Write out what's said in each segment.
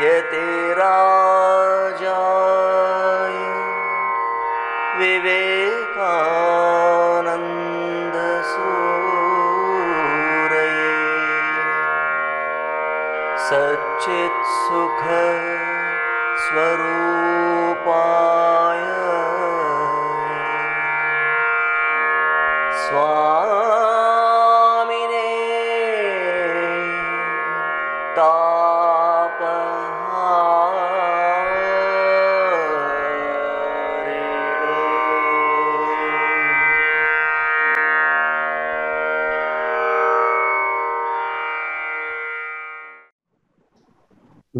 यतिराजाय विवेकानन्दसूरये सच्चित्सुख स्वरूपाय स्वामिने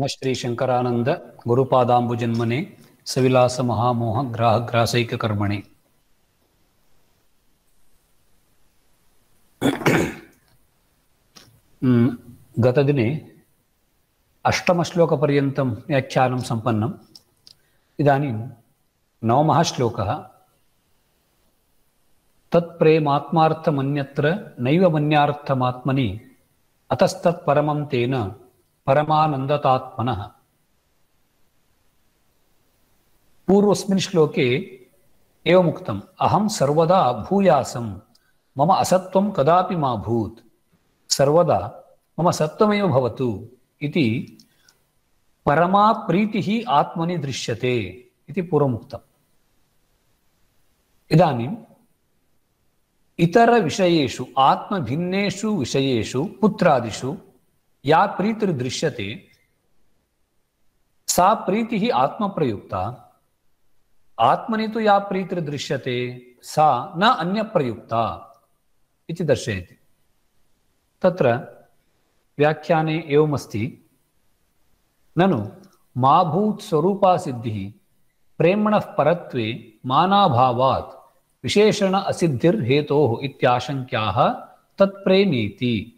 श्री शंकरानंद गुरुपादांबुजन्मने सविलास महामोह ग्राह ग्रासैक कर्मणे गतदिने अष्टमश्लोकपर्यन्तं व्याख्यानं सम्पन्नम्। इदानीं नवमः श्लोकः। तत्प्रेमात्मार्थमन्यत्र नैव मन्यार्थमात्मनि अतस्तत्परमं तेन परमानन्दतात्मनः। पूर्वस्मिन् श्लोके एवमुक्तम्, अहं सर्वदा भूयासं मम असत्वं कदापि मा भूत्, सर्वदा मम सत्वमेव भवतु इति परमा प्रीतिः आत्मनि दृश्यते इति पूर्वमुक्तम्। इदानीम् इतरविषयेषु आत्मभिन्नेषु विषयेषु पुत्रादिषु या प्रीतिर्दृश्यते सा प्रीतिः आत्मप्रयुक्ता, आत्मनि तु या प्रीतिर्दृश्यते सा न अन्यप्रयुक्ता इति दर्शयति। तत्र व्याख्याने एवमस्ति, ननु मा भूत् स्वरूपा सिद्धिः प्रेम्णः परत्वे मानाभावात् विशेषण असिद्धिर्हेतोः इत्याशङ्क्याः तत्प्रेमीति।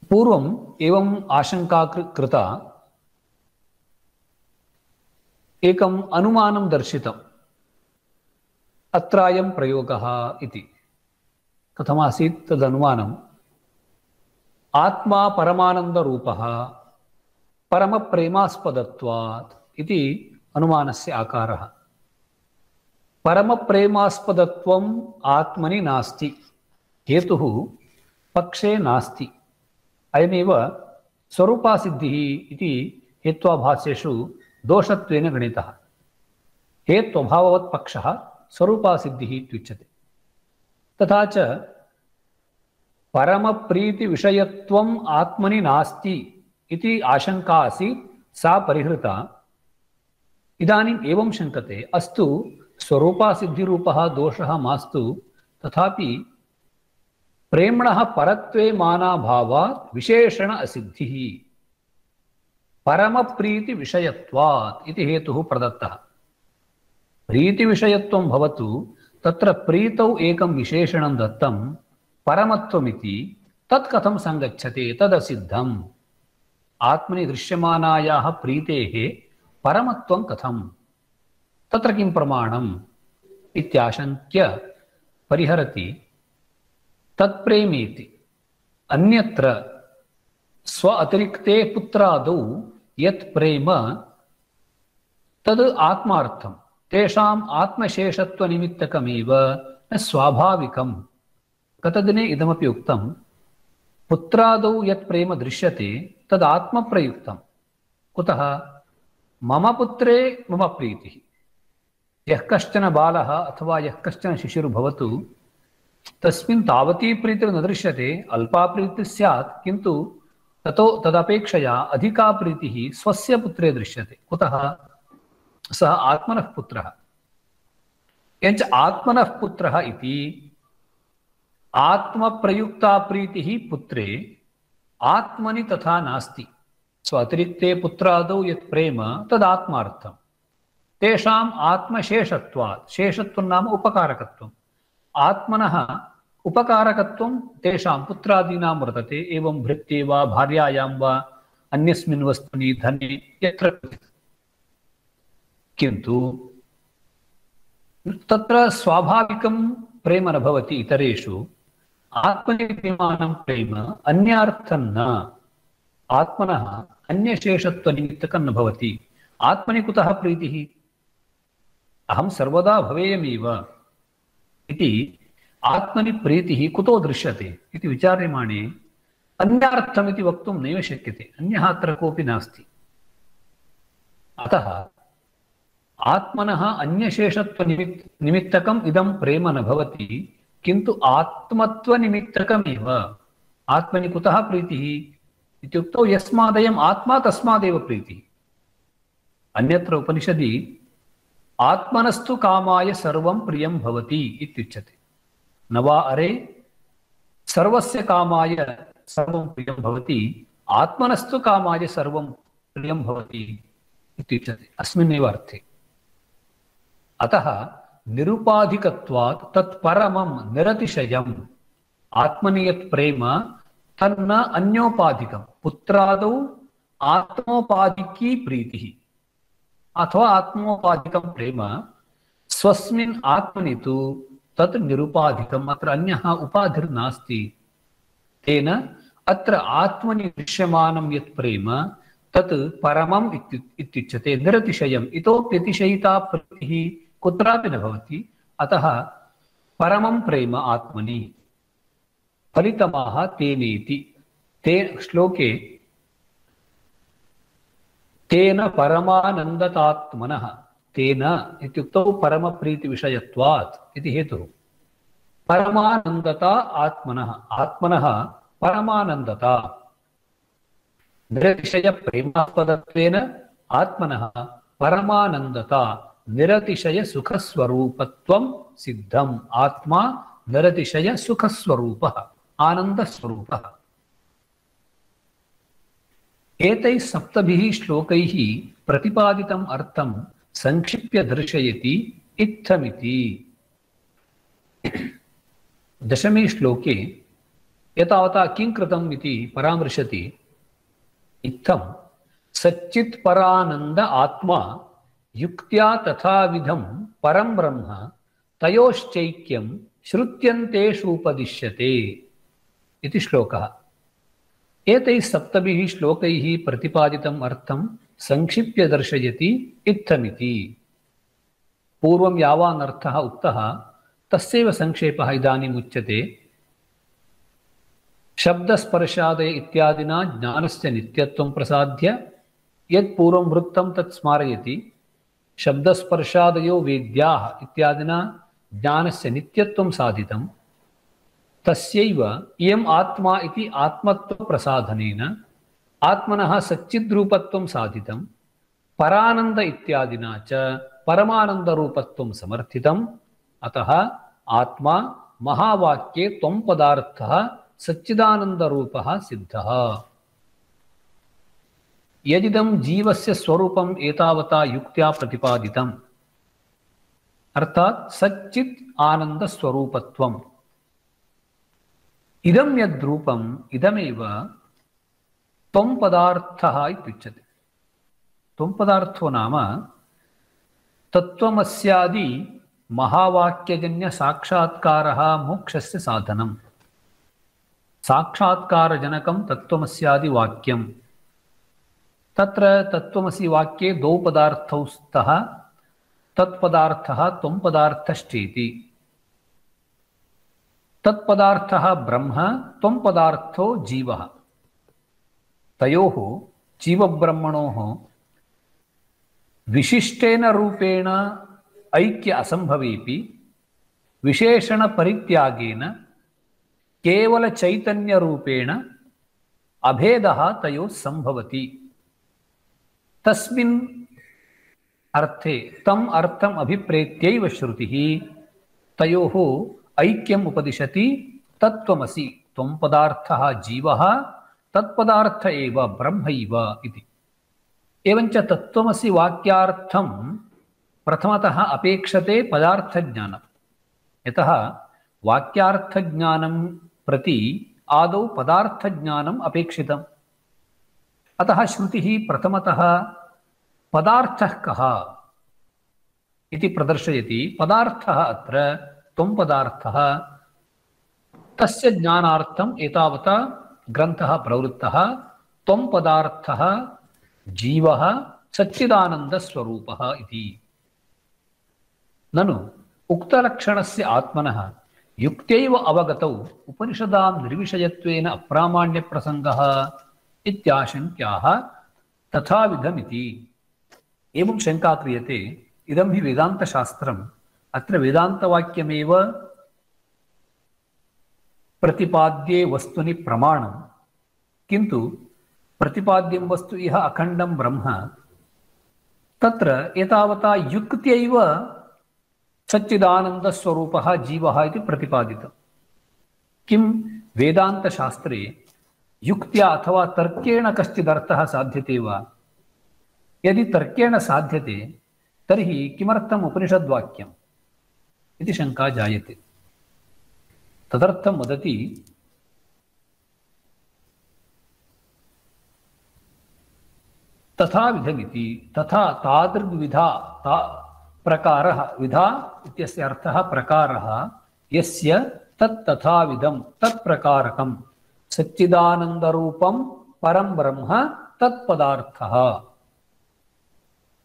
पूर्वम् एवम् आशंका कृता, एकम् अनुमानं दर्शितम्, अत्रायं प्रयोगः इति। कथमासीत् तदनुमानम्? आत्मा परमानन्दरूपः परमप्रेमास्पदत्वात् इति अनुमानस्य आकारः। परमप्रेमास्पदत्वम् आत्मनि नास्ति, हेतुः पक्षे नास्ति। अयमेव स्वरूपासिद्धिः इति हेत्वाभाष्येषु दोषत्वेन गणितः। हेत्वभाववत्पक्षः स्वरूपासिद्धिः इत्युच्यते। तथा च परमप्रीतिविषयत्वम् आत्मनि नास्ति इति आशंका आसीत्, सा परिहृता। इदानीम् एवं शङ्कते, अस्तु स्वरूपासिद्धिरूपः दोषः मास्तु, तथापि प्रेम्णः परत्वे मानाभावात् विशेषण असिद्धिः परमप्रीतिविषयत्वात् इति हेतुः प्रदत्तः। प्रीतिविषयत्वं भवतु, तत्र प्रीतौ एकं विशेषणं दत्तं परमत्वमिति, तत् कथं सङ्गच्छते? तदसिद्धम्। आत्मनि दृश्यमानायाः प्रीतेः परमत्वं कथम्? तत्र किं प्रमाणम् इत्याशङ्क्य परिहरति। तत्प्रेमीति अन्यत्र स्व अतिरिक्ते पुत्रादौ यत् प्रेम तद् आत्मार्थं तेषाम् आत्मशेषत्वनिमित्तकमेव न स्वाभाविकम्। गतदिने इदमपि उक्तं, पुत्रादौ यत् प्रेम दृश्यते तद् आत्मप्रयुक्तं। कुतः? मम पुत्रे मम प्रीतिः। यः कश्चन बालः अथवा यः कश्चन शिशुर्भवतु, तस्मिन् तावती प्रीतिर्न दृश्यते, अल्पा प्रीतिः स्यात्, किन्तु तदपेक्षया अधिका प्रीतिः स्वस्य पुत्रे दृश्यते। कुतः? सः आत्मनः पुत्रः। एवञ्च आत्मनः पुत्रः इति आत्मप्रयुक्ता प्रीतिः पुत्रे, आत्मनि तथा नास्ति। स्वातिरिक्ते पुत्रादौ यत् प्रेम तदात्मार्थं, तेषाम् आत्मशेषत्वात्, शेषत्वं नाम उपकारकत्वम्, आत्मनः उपकारकत्वं तेषां पुत्रादीनां वर्तते। एवं भृत्ये वा भार्यायां वा अन्यस्मिन् वस्तुनि धने यत्र, किन्तु तत्र स्वाभाविकं प्रेम न भवति इतरेषु। आत्मनि विद्यमानं प्रेम अन्यार्थं न आत्मनः अन्यशेषत्वनिमित्तकं न भवति। आत्मनि कुतः प्रीतिः? अहं सर्वदा भवेयमेव इति आत्मनि प्रीतिः कुतो दृश्यते इति विचार्यमाणे अन्यार्थमिति वक्तुं नैव शक्यते, अन्यः अत्र कोऽपि नास्ति। अतः आत्मनः अन्यशेषत्वनिमित्तकम् इदं प्रेम न भवति, किन्तु आत्मत्वनिमित्तकमेव। आत्मनि कुतः प्रीतिः इत्युक्तौ यस्मादयम् आत्मा तस्मादेव प्रीतिः। अन्यत्र उपनिषदि आत्मनस्तु कामाय सर्वं प्रियं भवति इत्युच्यते। न वा अरे सर्वस्य कामाय सर्वं प्रियं भवति, आत्मनस्तु कामाय सर्वं प्रियं भवति इत्युच्यते अस्मिन्नेव अर्थे। अतः निरुपाधिकत्वात् तत्परमं निरतिशयम् आत्मनि यत् प्रेम तन्न अन्योपाधिकं। पुत्रादौ आत्मोपाधिकी प्रीतिः अथवा आत्मोपाधिकं प्रेम, स्वस्मिन् आत्मनि तु तत् निरुपाधिकम्, अत्र अन्यः उपाधिर्नास्ति। तेन अत्र आत्मनि दृश्यमानं यत् प्रेम तत् परमम् इत्युच्यते, निरतिशयम्। इतोप्यतिशयिता प्रीतिः कुत्रापि न भवति। अतः परमं प्रेम आत्मनि फलितमाह तेनेति। ते श्लोके तेन परमानन्दतात्मनः, तेन इत्युक्तौ परमप्रीतिविषयत्वात् इति हेतुः। परमानन्दता आत्मनः, आत्मनः परमानन्दता निरतिशयप्रेमास्पदत्वेन आत्मनः परमानन्दता निरतिशयसुखस्वरूपत्वं सिद्धम्। आत्मा निरतिशयसुखस्वरूपः, आनन्दस्वरूपः। एतैः सप्तभिः श्लोकैः प्रतिपादितम् अर्थं संक्षिप्य दर्शयति इत्थमिति। दशमे श्लोके एतावता किं कृतम् इति परामर्शति। इत्थं सच्चित्परानन्द आत्मा युक्त्या तथाविधं परं ब्रह्म तयोश्चैक्यं श्रुत्यन्तेषूपदिश्यते इति श्लोकः। एतैः सप्तभिः श्लोकैः प्रतिपादितम् अर्थं संक्षिप्य दर्शयति इत्थमिति। पूर्वं यावान् अर्थः उक्तः तस्यैव संक्षेपः इदानीम् उच्यते। शब्दस्पर्शादय इत्यादिना ज्ञानस्य नित्यत्वं प्रसाद्य यत् पूर्वं वृत्तं तत् स्मारयति। शब्दस्पर्शादयो वेद्याः इत्यादिना ज्ञानस्य नित्यत्वं साधितं। तस्यैव इयम् आत्मा इति आत्मत्वप्रसाधनेन आत्मनः सच्चिद्रूपत्वं साधितं। परानन्द इत्यादिना च परमानन्दरूपत्वं समर्थितम्। अतः आत्मा महावाक्ये त्वं पदार्थः सच्चिदानन्दरूपः सिद्धः। यदिदं जीवस्य स्वरूपम् एतावता युक्त्या प्रतिपादितम्, अर्थात् सच्चित् आनन्दस्वरूपत्वम्, इदं यद्रूपम् इदमेव त्वं पदार्थः इत्युच्यते। त्वं पदार्थो नाम तत्त्वमस्यादि महावाक्यजन्य साक्षात्कारः मोक्षस्य साधनम्। साक्षात्कारजनकं तत्त्वमस्यादि वाक्यम्। तत्र तत्त्वमसि वाक्ये द्वौ पदार्थौ स्तः। तत्पदार्थः त्वं पदार्थश्चेति। तत्पदार्थः ब्रह्म, त्वं पदार्थो जीवः। तयोः जीवब्रह्मणोः विशिष्टेन रूपेण ऐक्य असंभवेपि विशेषणपरित्यागेन केवल चैतन्यरूपेण अभेदः तयोः संभवति। तस्मिन् अर्थे तम् अर्थम् अभिप्रेत्यैव श्रुतिः तयोः ऐक्यम् उपदिशति। तत्त्वमसि त्वं पदार्थः जीवः, तत्पदार्थ एव ब्रह्मैव इति। एवञ्च तत्त्वमसि वाक्यार्थं प्रथमतः अपेक्षते पदार्थज्ञानम्। यतः वाक्यार्थज्ञानं प्रति आदौ पदार्थज्ञानम् अपेक्षितम्। अतः श्रुतिः प्रथमतः पदार्थः कः इति प्रदर्शयति। पदार्थः अत्र त्वं पदार्थः तस्य ज्ञानार्थम् एतावता ग्रन्थः प्रवृत्तः। त्वं पदार्थः जीवः सच्चिदानन्दस्वरूपः इति। ननु उक्तलक्षणस्य आत्मनः युक्त्यैव अवगतौ उपनिषदां निर्विषयत्वेन अप्रामाण्यप्रसङ्गः इत्याशङ्क्याः तथाविधमिति। एवं शङ्का क्रियते, इदं हि वेदान्तशास्त्रम्, अत्र वेदान्तवाक्यमेव प्रतिपाद्ये वस्तुनि प्रमाणं, किन्तु प्रतिपाद्यं वस्तु इह अखण्डं ब्रह्म, तत्र एतावता युक्त्यैव सच्चिदानन्दस्वरूपः जीवः इति प्रतिपादितं। किं वेदान्तशास्त्रे युक्त्या अथवा तर्केण कश्चिदर्थः साध्यते वा? यदि तर्केण साध्यते तर्हि किमर्थम् उपनिषद्वाक्यम् इति शङ्का जायते। तदर्थं वदति, तथाविधमिति। तथा तादृग्विधा प्रकारः, विधा इत्यस्य अर्थः प्रकारः, यस्य तत्तथाविधं तत्प्रकारकं सच्चिदानन्दरूपं परं ब्रह्म तत्पदार्थः।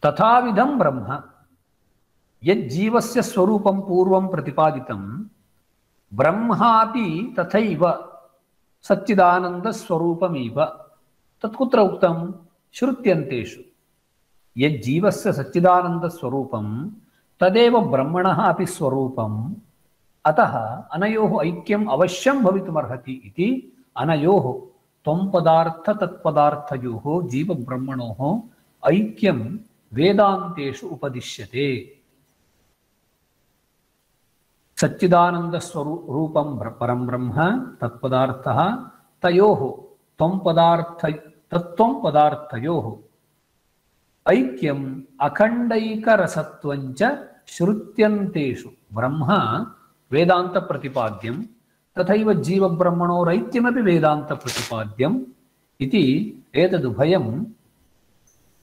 तथाविधं ब्रह्म यज्जीवस्य स्वरूपं पूर्वं प्रतिपादितं, ब्रह्मापि तथैव सच्चिदानन्दस्वरूपमेव। तत्कुत्र उक्तं? श्रुत्यन्तेषु। यज्जीवस्य सच्चिदानन्दस्वरूपं तदेव ब्रह्मणः अपि स्वरूपम्, अतः अनयोः ऐक्यम् अवश्यं भवितुमर्हति इति अनयोः त्वं पदार्थ तत्पदार्थयोः जीवब्रह्मणोः ऐक्यं वेदान्तेषु उपदिश्यते। सच्चिदानन्दस्वरूपं परं ब्रह्म तत्पदार्थः, तयोः तत्त्वं पदार्थयोः ऐक्यम् अखण्डैकरसत्वञ्च श्रुत्यन्तेषु। ब्रह्म वेदान्तप्रतिपाद्यं, तथैव जीवब्रह्मणोरैक्यमपि वेदान्तप्रतिपाद्यम् इति। एतदुभयं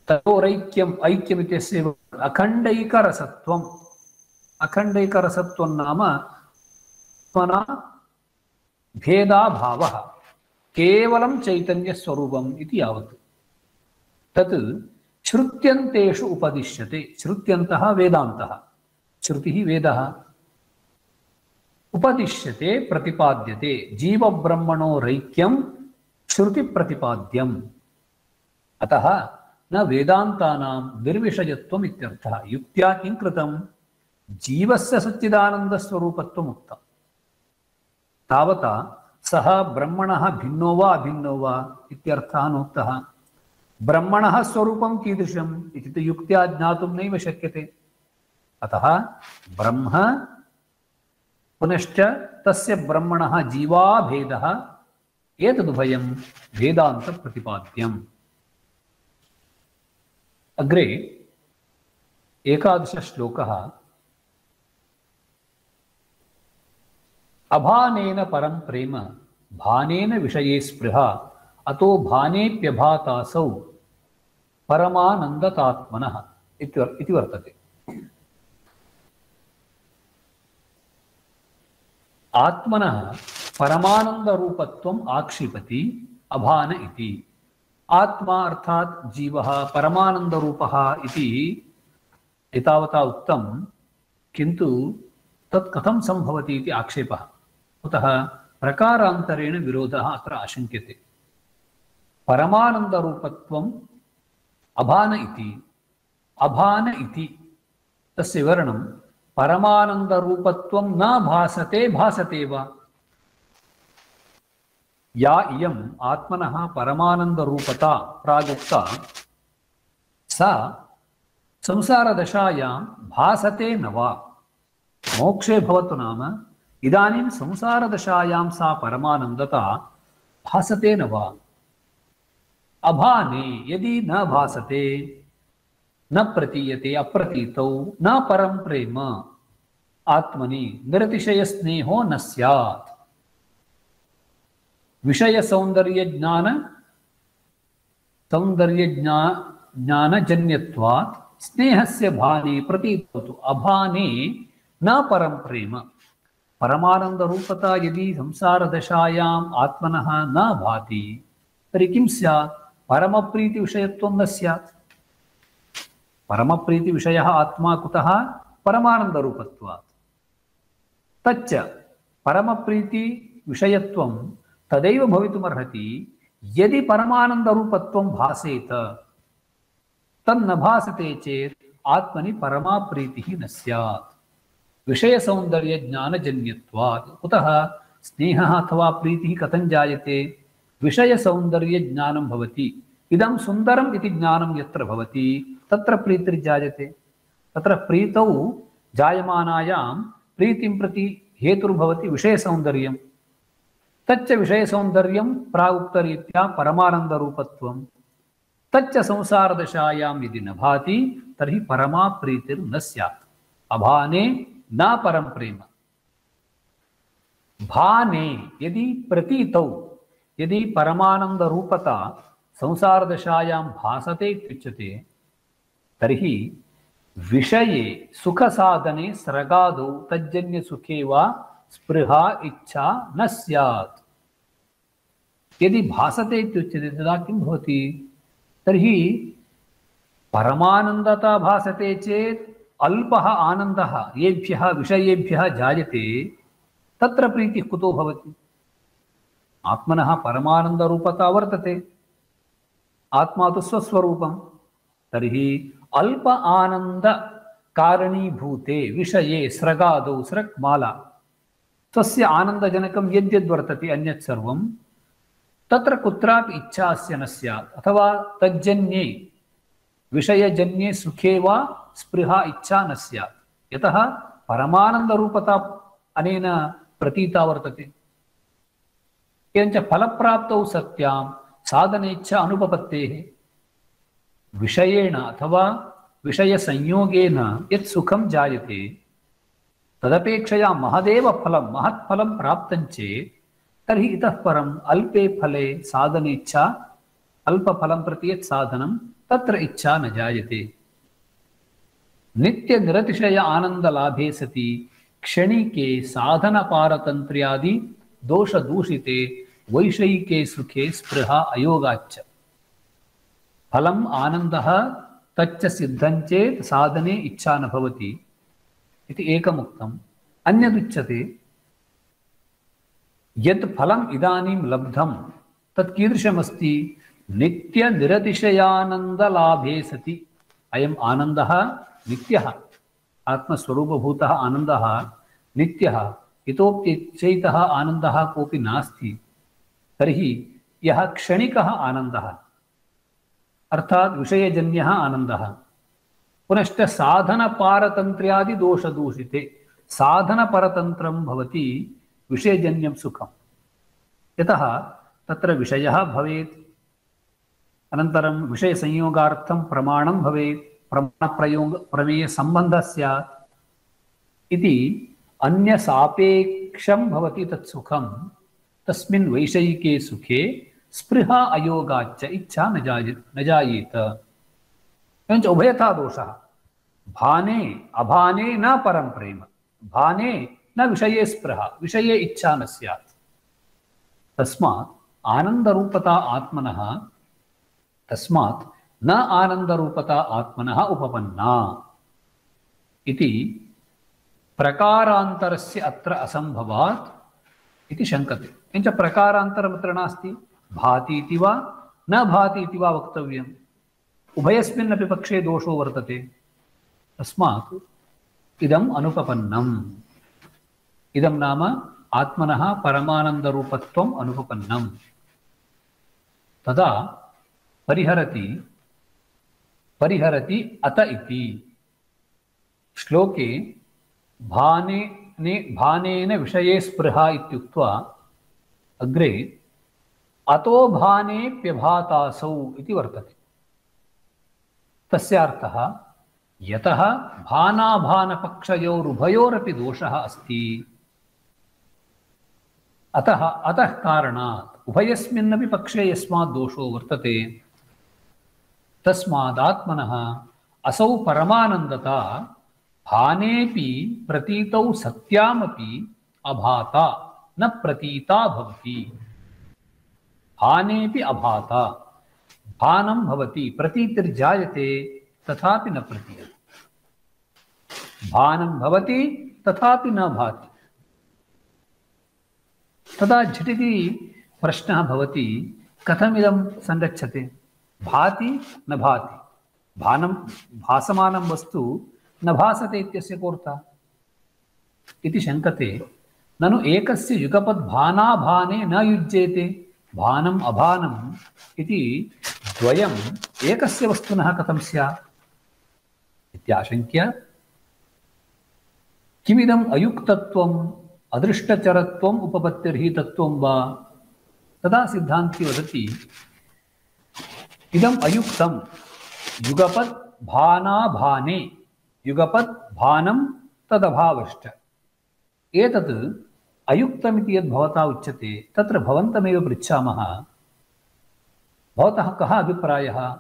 तयोरैक्यम्, ऐक्यमित्यस्य अखण्डैकरसत्वम्। अखण्डैकरसत्वं नाम भेदाभावः, केवलं चैतन्यस्वरूपम् इति यावत्। तत् श्रुत्यन्तेषु उपदिश्यते। श्रुत्यन्तः वेदान्तः, श्रुतिः वेदः। उपदिश्यते, प्रतिपाद्यते। जीवब्रह्मणोरैक्यं श्रुतिप्रतिपाद्यम्। अतः न वेदान्तानां निर्विषयत्वम् इत्यर्थः। युक्त्या किं कृतं? जीवस्य सच्चिदानन्दस्वरूपत्वम् उक्तं। तावता सः ब्रह्मणः भिन्नो वा अभिन्नो वा इत्यर्थः नोक्तः। ब्रह्मणः स्वरूपं कीदृशम् इति तु युक्त्या ज्ञातुं नैव शक्यते। अतः ब्रह्म पुनश्च तस्य ब्रह्मणः जीवाभेदः, एतदुभयं वेदान्तप्रतिपाद्यम्। अग्रे 11 श्लोकः। अभानेन परं प्रेम भानेन विषये स्पृहा अतो भानेप्यभातासौ परमानन्दतात्मनः इति वर्तते। आत्मनः परमानन्दरूपत्वम् आक्षिपति अभान इति। आत्मा अर्थात् जीवः परमानन्दरूपः इति एतावता उक्तं, किन्तु तत् कथं सम्भवति इति आक्षेपः। कुतः? प्रकारान्तरेण विरोधः अत्र आशङ्क्यते। परमानन्दरूपत्वम् अभान इति। अभान इति तस्य विवरणं, परमानन्दरूपत्वं न भासते, भासते वा? या इयम् आत्मनः परमानन्दरूपता प्रागुक्ता, सा संसारदशायां भासते न वा? मोक्षे भवतु नाम इदानीं संसारदशायां सा परमानन्दता भासते न वा? अभाने यदि न भासते, न प्रतीयते, अप्रतीतौ न परं प्रेम आत्मनि निरतिशयस्नेहो न स्यात्। विषयसौन्दर्यज्ञानजन्यत्वात् स्नेहस्य भाने प्रतीतौ तु अभाने न परं प्रेम। परमानन्दरूपता यदि संसारदशायाम् आत्मनः न भाति तर्हि किं स्यात्? परमप्रीतिविषयत्वं न स्यात्। परमप्रीतिविषयः आत्मा कुतः? परमानन्दरूपत्वात्। तच्च परमप्रीतिविषयत्वं तदैव भवितुमर्हति यदि परमानन्दरूपत्वं भासेत। तन्न भासते चेत् आत्मनि परमा प्रीतिः न स्यात्। विषयसौन्दर्यज्ञानजन्यत्वात्। कुतः? स्नेहः अथवा प्रीतिः कथं जायते? विषयसौन्दर्यज्ञानं भवति। इदं सुन्दरम् इति ज्ञानं यत्र भवति तत्र प्रीतिर्जायते। तत्र प्रीतौ जायमानायां प्रीतिं प्रति हेतुर्भवति विषयसौन्दर्यं। तच्च विषयसौन्दर्यं प्रागुक्तरीत्या परमानन्दरूपत्वं। तच्च संसारदशायां यदि न भाति तर्हि परमा प्रीतिर्न स्यात्। अभाने न परं प्रेम। भाने यदि प्रतीतौ यदि परमानन्दरूपता संसारदशायां भासते इत्युच्यते तर्हि विषये सुखसाधने स्रगादौ तज्जन्यसुखे वा स्पृहा इच्छा न स्यात्। यदि भासते इत्युच्यते तदा किं भवति? तर्हि परमानन्दता भासते चेत् अल्पः आनन्दः येभ्यः विषयेभ्यः जायते तत्र प्रीतिः कुतो भवति? आत्मनः परमानन्दरूपता वर्तते, आत्मा तु स्वस्वरूपं। तर्हि अल्प आनन्दकारणीभूते विषये स्रगादौ स्रक्माला स्वस्य आनन्दजनकं यद्यद्वर्तते अन्यत् सर्वं तत्र कुत्रापि इच्छा अस्य न स्यात्। अथवा तज्जन्ये विषयजन्ये सुखे वा स्पृहा इच्छा न स्यात्। यतः परमानन्दरूपता अनेन प्रतीता वर्तते। एवञ्च फलप्राप्तौ सत्यां साधनेच्छा अनुपपत्तेः। विषयेण अथवा विषयसंयोगेन यत् सुखं जायते तदपेक्षया महदेव फलं महत्फलं प्राप्तं चेत् तर्हि इतः परम् अल्पे फले साधनेच्छा अल्पफलं प्रति यत् साधनं तत्र इच्छा न जायते। नित्यनिरतिशय आनन्दलाभे सति क्षणिके साधनपारतन्त्र्यादि दोषदूषिते वैषयिके सुखे स्पृहा अयोगाच्च। फलम् आनन्दः तच्च सिद्धं चेत् साधने इच्छा न भवति इति एकमुक्तम्। अन्यदुच्यते यत् फलम् इदानीं लब्धं तत् कीदृशमस्ति? नित्यनिरतिशयानन्दलाभे सति। अयम् आनन्दः नित्यः, आत्मस्वरूपभूतः आनन्दः नित्यः, इतोप्यचैतः आनन्दः कोऽपि नास्ति। तर्हि यः क्षणिकः आनन्दः अर्थात् विषयजन्यः आनन्दः, पुनश्च साधनपारतन्त्र्यादिदोषदूषिते साधनपरतन्त्रं भवति विषयजन्यं सुखं। यतः तत्र विषयः भवेत्, अनन्तरं विषयसंयोगार्थं प्रमाणं भवेत्, प्रमेयसम्बन्धः स्यात् इति अन्यसापेक्षं भवति तत्सुखं। तस्मिन् वैषयिके सुखे स्पृहा अयोगाच्च इच्छा न जायेत। एवञ्च उभयथा दोषः। भाने अभाने न परं प्रेम। भाने न विषये स्पृहा, विषये इच्छा न स्यात्। तस्मात् आनन्दरूपता आत्मनः न आनन्दरूपता आत्मनः उपपन्ना इति प्रकारान्तरस्य अत्र असम्भवात् इति शङ्कते। किञ्च प्रकारान्तरमत्र नास्ति। भाति इति वा न भाति इति वा वक्तव्यम्। उभयस्मिन्नपि पक्षे दोषो वर्तते। तस्मात् इदम् अनुपपन्नम्। इदं नाम आत्मनः परमानन्दरूपत्वम् अनुपपन्नम्। तदा परिहरति अत इति श्लोके भानेन विषये स्पृहा इत्युक्त्वा अग्रे अतो भानेऽप्यभातासौ इति वर्तते। तस्य अर्थः यतः भानाभानपक्षयोरुभयोरपि दोषः अस्ति, अतः कारणात् उभयस्मिन्नपि पक्षे यस्मात् दोषो वर्तते तस्मादात्मनः असौ परमानन्दता भानेऽपि प्रतीतौ सत्यामपि अभाता न प्रतीता भवति। भानेपि अभाता, भानं भवति प्रतीतिर्जायते तथापि न प्रतीयते। भानं भवति तथापि न भाति। तदा झटिति प्रश्नः भवति, कथमिदं संरक्षते? भाति न भाति, भानं भासमानं वस्तु न भासते इत्यस्य कोऽर्थः इति शङ्कते। ननु एकस्य युगपद्भानाभाने न युज्येते। भानम् अभानम् इति द्वयम् एकस्य वस्तुनः कथं स्यात् इत्याशङ्क्य किमिदम् अयुक्तत्वम् अदृष्टचरत्वम् उपपत्तिर्हितत्वं वा? तदा सिद्धान्ती वदति, इदम् अयुक्तं युगपत् भानाभाने, युगपत् भानं तदभावश्च। एतत् अयुक्तमिति यद् भवता उच्यते तत्र भवन्तमेव पृच्छामः, भवतः कः अभिप्रायः?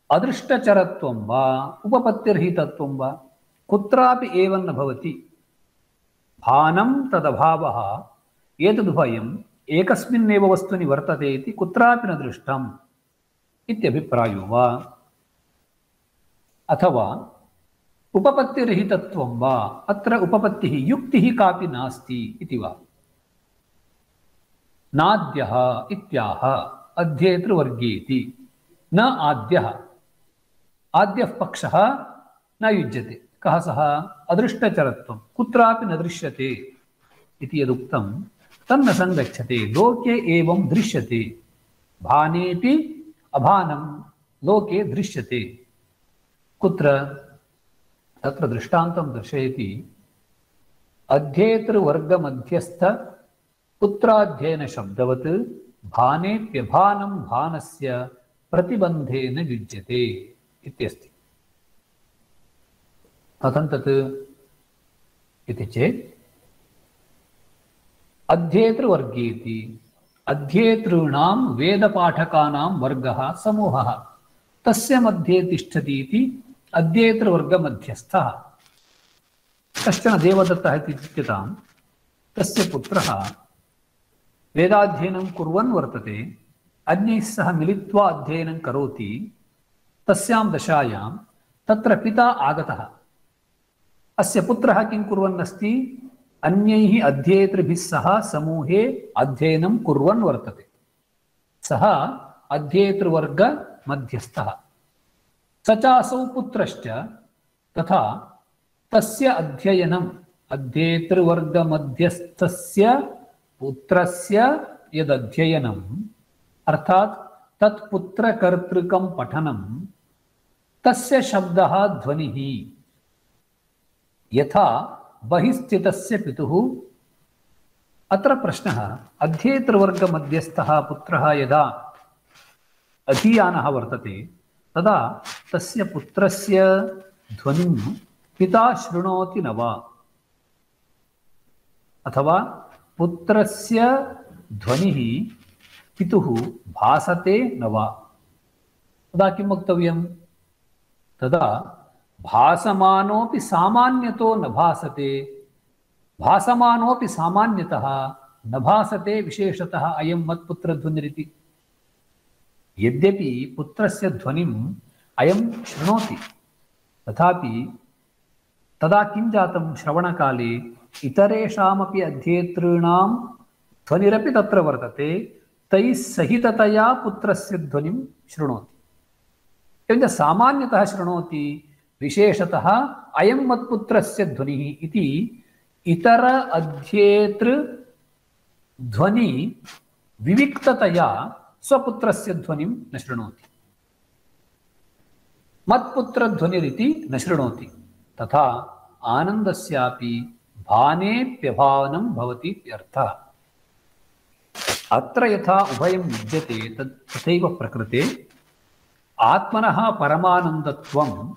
अदृष्टचरत्वं वा उपपत्तिर्हितत्वं वा? कुत्रापि एवं न भवति। भानं तदभावः, एतदुभयम् एकस्मिन्नेव वस्तुनि वर्तते इति कुत्रापि न दृष्टम् इत्यभिप्रायो वा? अथवा उपपत्तिरहितत्वं वा? अत्र उपपत्तिः युक्तिः कापि नास्ति इति वा? नाद्यः इत्याह अध्येतृवर्गेति, न आद्यः, आद्यः पक्षः न युज्यते। कः सः? अदृष्टचरत्वं, कुत्रापि न दृश्यते इति यदुक्तं तन्न संगच्छते। लोके एवं दृश्यते, भानेपि अभानं लोके दृश्यते। कुत्र? तत्र दृष्टान्तं दर्शयति, अध्येतृवर्गमध्यस्थ पुत्राध्ययनशब्दवत् भानेप्यभानं भानस्य प्रतिबन्धेन युज्यते इत्यस्ति। कथं तत् इति चेत्, अध्येतृवर्गेति अध्येतॄणां वेदपाठकानां वर्गः समूहः, तस्य मध्ये तिष्ठति इति अध्येतृवर्गमध्यस्थः। कश्चन देवदत्तः इति चिन्त्यतां, तस्य पुत्रः वेदाध्ययनं कुर्वन् वर्तते, अन्यैः सह मिलित्वा अध्ययनं करोति। तस्यां दशायां तत्र पिता आगतः। अस्य पुत्रः किं कुर्वन्नस्ति? अन्यैः अध्येतृभिः सह समूहे अध्ययनं कुर्वन् वर्तते। सः अध्येतृवर्गमध्यस्थः। स चासौ पुत्रश्च तथा तस्य अध्ययनम् अध्येतृवर्गमध्यस्थस्य पुत्रस्य यदध्ययनम् अर्थात् तत्पुत्रकर्तृकं पठनं, तस्य शब्दः ध्वनिः यथा बहिस्थितस्य पितुः। अत्र प्रश्नः, अध्येतृवर्गमध्यस्थः पुत्रः यदा अधीयानः वर्तते तदा तस्य पुत्रस्य ध्वनिं पिता शृणोति न वा? अथवा पुत्रस्य ध्वनिः पितुः भासते न वा? तदा किं वक्तव्यं? तदा भासमानोऽपि सामान्यतो न भासते, भासमानोऽपि सामान्यतः न भासते विशेषतः अयं मत्पुत्रध्वनिरिति। यद्यपि पुत्रस्य ध्वनिम् अयं शृणोति, तथापि तदा किं जातं? श्रवणकाले इतरेषामपि अध्येतॄणां ध्वनिरपि तत्र वर्तते, तैः सहिततया पुत्रस्य ध्वनिं शृणोति। एवञ्च सामान्यतः शृणोति, विशेषतः अयं मत्पुत्रस्य ध्वनिः इति इतर अध्येतृ ध्वनि विविक्ततया स्वपुत्रस्य ध्वनिं न शृणोति, मत्पुत्रध्वनिरिति न शृणोति। तथा आनन्दस्यापि भानेप्यभावनं भवति इत्यर्थः। अत्र यथा उभयं विद्यते तथैव प्रकृते आत्मनः परमानन्दत्वं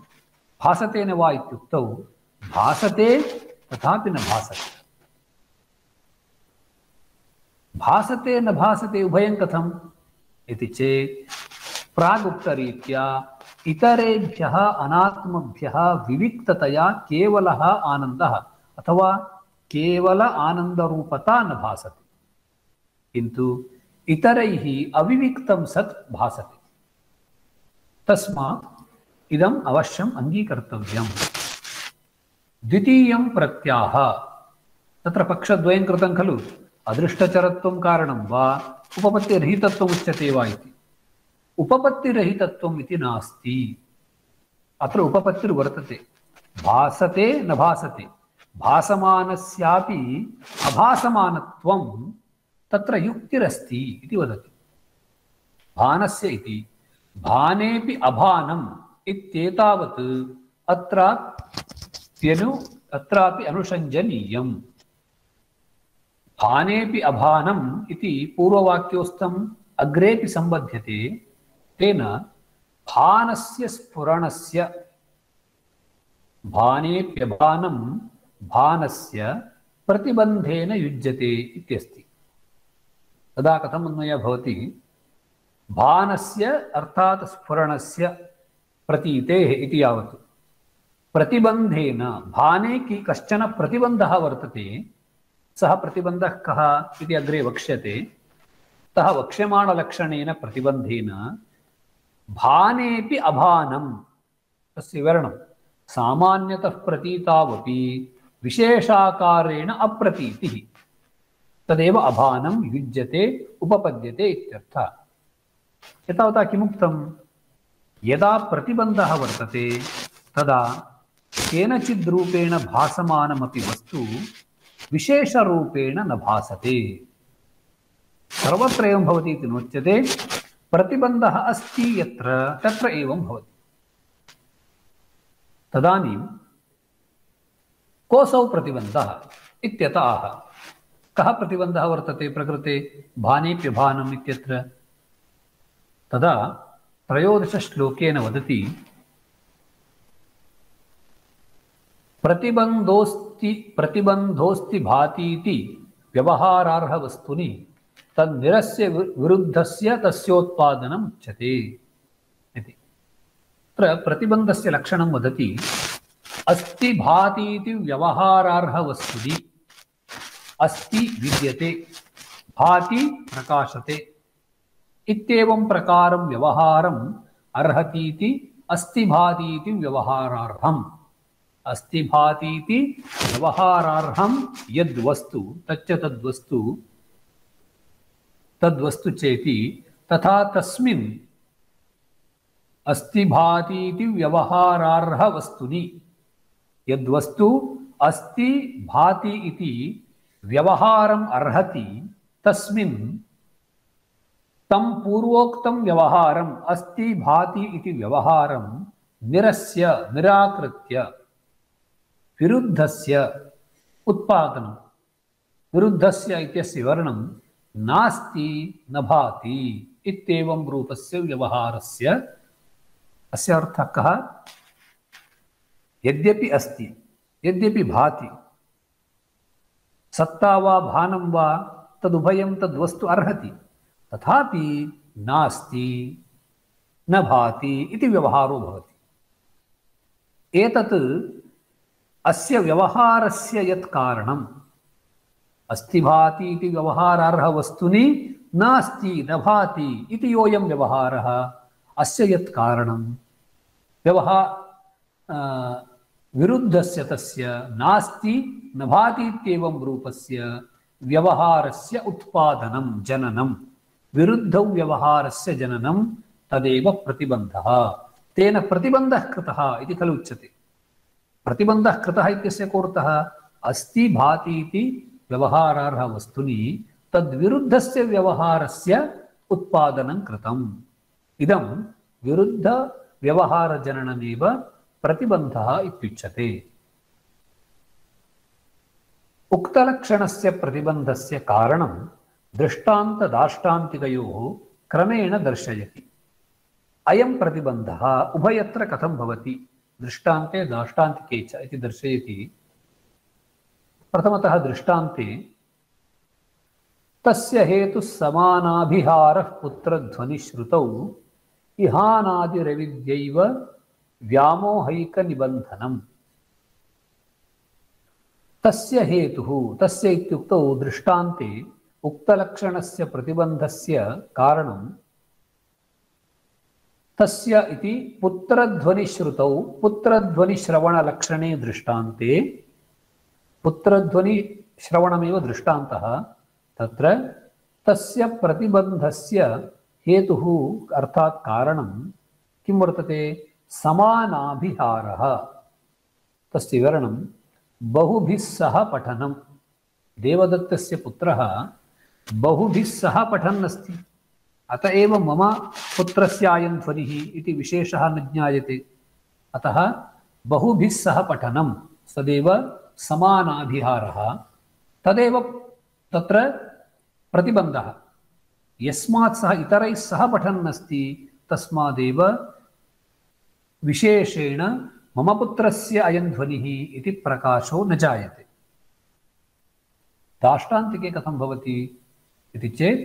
भासते न वा इत्युक्तौ, भासते तथापि न भासते। भासते न भासते उभयं कथम् इति चेत्, प्रागुक्तरीत्या इतरेभ्यः अनात्मभ्यः विविक्ततया केवलः आनन्दः अथवा केवल आनन्दरूपता न भासते, किन्तु इतरैः अविविक्तं सत् भासते। तस्मात् इदम् अवश्यम् अङ्गीकर्तव्यम्। द्वितीयं प्रत्याह, तत्र पक्षद्वयं कृतं खलु, अदृष्टचरत्वं कारणं वा उपपत्तिरहितत्वम् उच्यते वा इति। उपपत्तिरहितत्वम् इति नास्ति, अत्र उपपत्तिर्वर्तते। भासते न भासते, भासमानस्यापि अभासमानत्वं तत्र युक्तिरस्ति इति वदति। भानस्य इति भानेपि अभानम् इत्येतावत् अत्रापि अनुषञ्जनीयम्। भानेपि अभानम् इति पूर्ववाक्योक्तम् अग्रेपि सम्बध्यते। तेन भानस्य स्फुरणस्य, भानेप्यभानं भानस्य प्रतिबन्धेन युज्यते इत्यस्ति। तदा कथम् अन्वयः भवति? भानस्य अर्थात् स्फुरणस्य प्रतीतेः इति यावत् प्रतिबन्धेन, भाने कश्चन प्रतिबन्धः वर्तते, सः प्रतिबन्धः कः इति अग्रे वक्ष्यते। तः वक्ष्यमाणलक्षणेन प्रतिबन्धेन भानेपि अभानं, तस्य विवरणं सामान्यतः प्रतीतावपि विशेषाकारेण अप्रतीतिः, तदेव अभानं युज्यते उपपद्यते इत्यर्थः। एतावता किमुक्तं? यदा प्रतिबन्धः वर्तते तदा केनचिद्रूपेण भासमानमपि वस्तु विशेषरूपेण न भासते। सर्वत्र एवं भवति इति नोच्यते। प्रतिबन्धः अस्ति यत्र तत्र एवं भवति। तदानीं कोऽसौ प्रतिबन्धः इत्यतः आह। कः प्रतिबन्धः वर्तते प्रकृते? भानेप्यभानम् इत्यत्र। तदा त्रयोदशश्लोकेन वदति, प्रतिबन्धोस्ति भातीति व्यवहारार्ह वस्तुनि तन्निरस्य विरुद्धस्य तस्योत्पादनम् उच्यते इति। अत्र प्रतिबन्धस्य लक्षणं वदति। अस्ति भातीति व्यवहारार्ह वस्तुनि, अस्ति विद्यते, भाति प्रकाशते, इत्येवं प्रकारं व्यवहारम् अर्हतीति अस्ति भातीति व्यवहारार्हम्। अस्ति भातीति व्यवहारार्हं यद्वस्तु तच्च तद्वस्तु चेति तथा तस्मिन् अस्ति भातीति व्यवहारार्ह वस्तुनि यद्वस्तु अस्ति भाति इति व्यवहारम् अर्हति तस्मिन् तं पूर्वोक्तं व्यवहारम् अस्ति भाति इति व्यवहारं निरस्य निराकृत्य विरुद्धस्य उत्पादनं, विरुद्धस्य इत्यस्य विवरणं नास्ति न भाति इत्येवं रूपस्य व्यवहारस्य। अस्य अर्थः कः? यद्यपि अस्ति, यद्यपि भाति, सत्ता वा भानं वा तदुभयं तद्वस्तु अर्हति, तथापि नास्ति न भाति इति व्यवहारो भवति। एतत् अस्य व्यवहारस्य यत् कारणम्, अस्ति भाति इति व्यवहारार्ह वस्तुनि नास्ति न भाति इति योऽयं व्यवहारः, अस्य यत् कारणं विरुद्धस्य तस्य नास्ति न भाति इत्येवं रूपस्य व्यवहारस्य उत्पादनं जननं, विरुद्धौ व्यवहारस्य जननं तदेव प्रतिबन्धः। तेन प्रतिबन्धः कृतः इति खलु उच्यते। प्रतिबन्धः कृतः इत्यस्य कोऽर्थः? अस्ति भाति इति व्यवहारार्ह वस्तुनि तद्विरुद्धस्य व्यवहारस्य उत्पादनं कृतम्। इदं विरुद्धव्यवहारजननमेव प्रतिबन्धः इत्युच्यते। उक्तलक्षणस्य प्रतिबन्धस्य कारणं दृष्टान्तदाष्टान्तिकयोः क्रमेण दर्शयति। अयं प्रतिबन्धः उभयत्र कथं भवति? दृष्टान्ते दाष्टान्तिके च इति दर्शयति। प्रथमतः दृष्टान्ते तस्य हेतुः समानाभिहारः पुत्रध्वनिश्रुतौ इहानादिरविद्यैव व्यामोहैकनिबन्धनम्। तस्य हेतुः तस्य इत्युक्तौ दृष्टान्ते उक्तलक्षणस्य प्रतिबन्धस्य कारणं तस्य इति पुत्रध्वनिश्रुतौ पुत्रध्वनिश्रवणलक्षणे दृष्टान्ते पुत्रध्वनिश्रवणमेव दृष्टान्तः तत्र तस्य प्रतिबन्धस्य हेतुः अर्थात् कारणं किं वर्तते समानाभिहारः तस्य विवरणं बहुभिः सह पठनं देवदत्तस्य पुत्रः बहुभिः सह पठन् अस्ति अत एव मम पुत्रस्य अयं ध्वनिः इति विशेषः न ज्ञायते अतः बहुभिः सह पठनं तदेव समानाभिहारः तदेव तत्र प्रतिबन्धः यस्मात् सः इतरैः सह पठन् अस्ति तस्मादेव विशेषेण मम पुत्रस्य अयं ध्वनिः इति प्रकाशो न जायते दाष्टान्तिके कथं भवति इति चेत्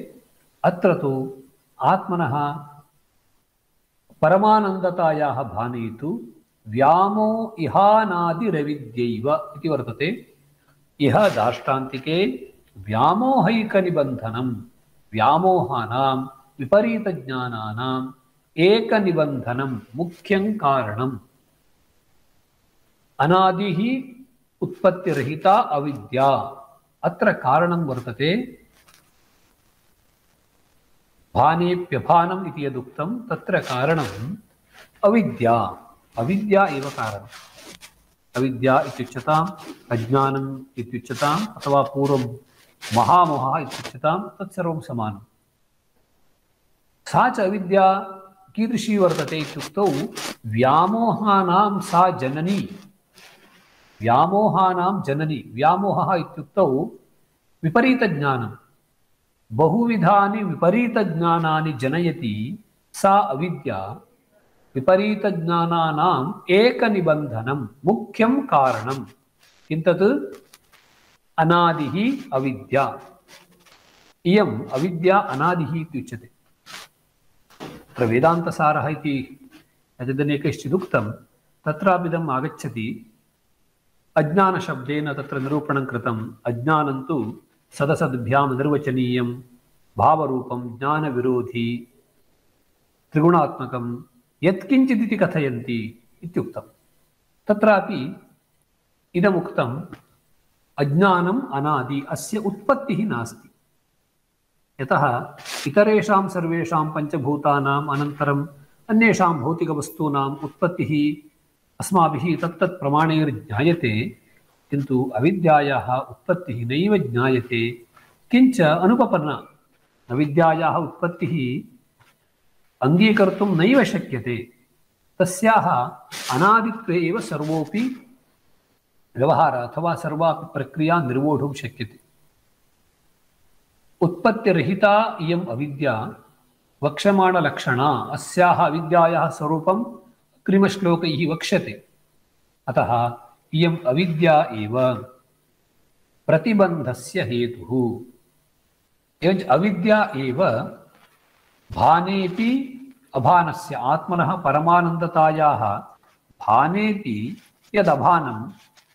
अत्र तु आत्मनः परमानन्दतायाः भाने तु व्यामो इहानादिरविद्यैव इति वर्तते इह दाष्टान्तिके व्यामोहैकनिबन्धनं व्यामोहानां विपरीतज्ञानानाम् एकनिबन्धनं मुख्यं कारणम् अनादिः उत्पत्तिरहिता अविद्या अत्र कारणं वर्तते भानेप्यभानम् इति यदुक्तं तत्र कारणम् अविद्या अविद्या एव कारणम् अविद्या इत्युच्यताम् अज्ञानम् इत्युच्यताम् अथवा पूर्वं महामोहः इत्युच्यताम् तत्सर्वं समानं सा च अविद्या कीदृशी वर्तते इत्युक्तौ व्यामोहानां सा जननी व्यामोहानां जननी व्यामोहः इत्युक्तौ विपरीतज्ञानं बहुविधानि विपरीतज्ञानानि जनयति सा अविद्या विपरीतज्ञानानाम् एकनिबन्धनं मुख्यं कारणं किं तत् अनादिः अविद्या इयम् अविद्या अनादिः इत्युच्यते तत्र वेदान्तसारः इति यदिदने कश्चिदुक्तं तत्रापिदम् आगच्छति अज्ञानशब्देन तत्र निरूपणं कृतम् अज्ञानं तु सदसद्भ्यां निर्वचनीयं भावरूपं ज्ञानविरोधी त्रिगुणात्मकं यत्किञ्चिदिति कथयन्ति इत्युक्तं तत्रापि इदमुक्तम् अज्ञानम् अनादि अस्य उत्पत्तिः नास्ति यतः इतरेषां सर्वेषां पञ्चभूतानाम् अनन्तरम् अन्येषां भौतिकवस्तूनाम् उत्पत्तिः अस्माभिः तत्तत् प्रमाणैर्ज्ञायते किन्तु अविद्यायाः उत्पत्तिः नैव ज्ञायते किञ्च अनुपपन्ना अविद्यायाः उत्पत्तिः अङ्गीकर्तुं नैव शक्यते तस्याः अनादित्वे एव सर्वोऽपि व्यवहारः अथवा सर्वापि प्रक्रिया निर्वोढुं शक्यते उत्पत्तिरहिता इयम् अविद्या वक्ष्यमाणलक्षणा अस्याः अविद्यायाः स्वरूपं अग्रिमश्लोकैः वक्ष्यते अतः इयम् अविद्या एव प्रतिबन्धस्य हेतुः एवञ्च अविद्या एव भानेपि अभानस्य आत्मनः परमानन्दतायाः भानेपि यदभानं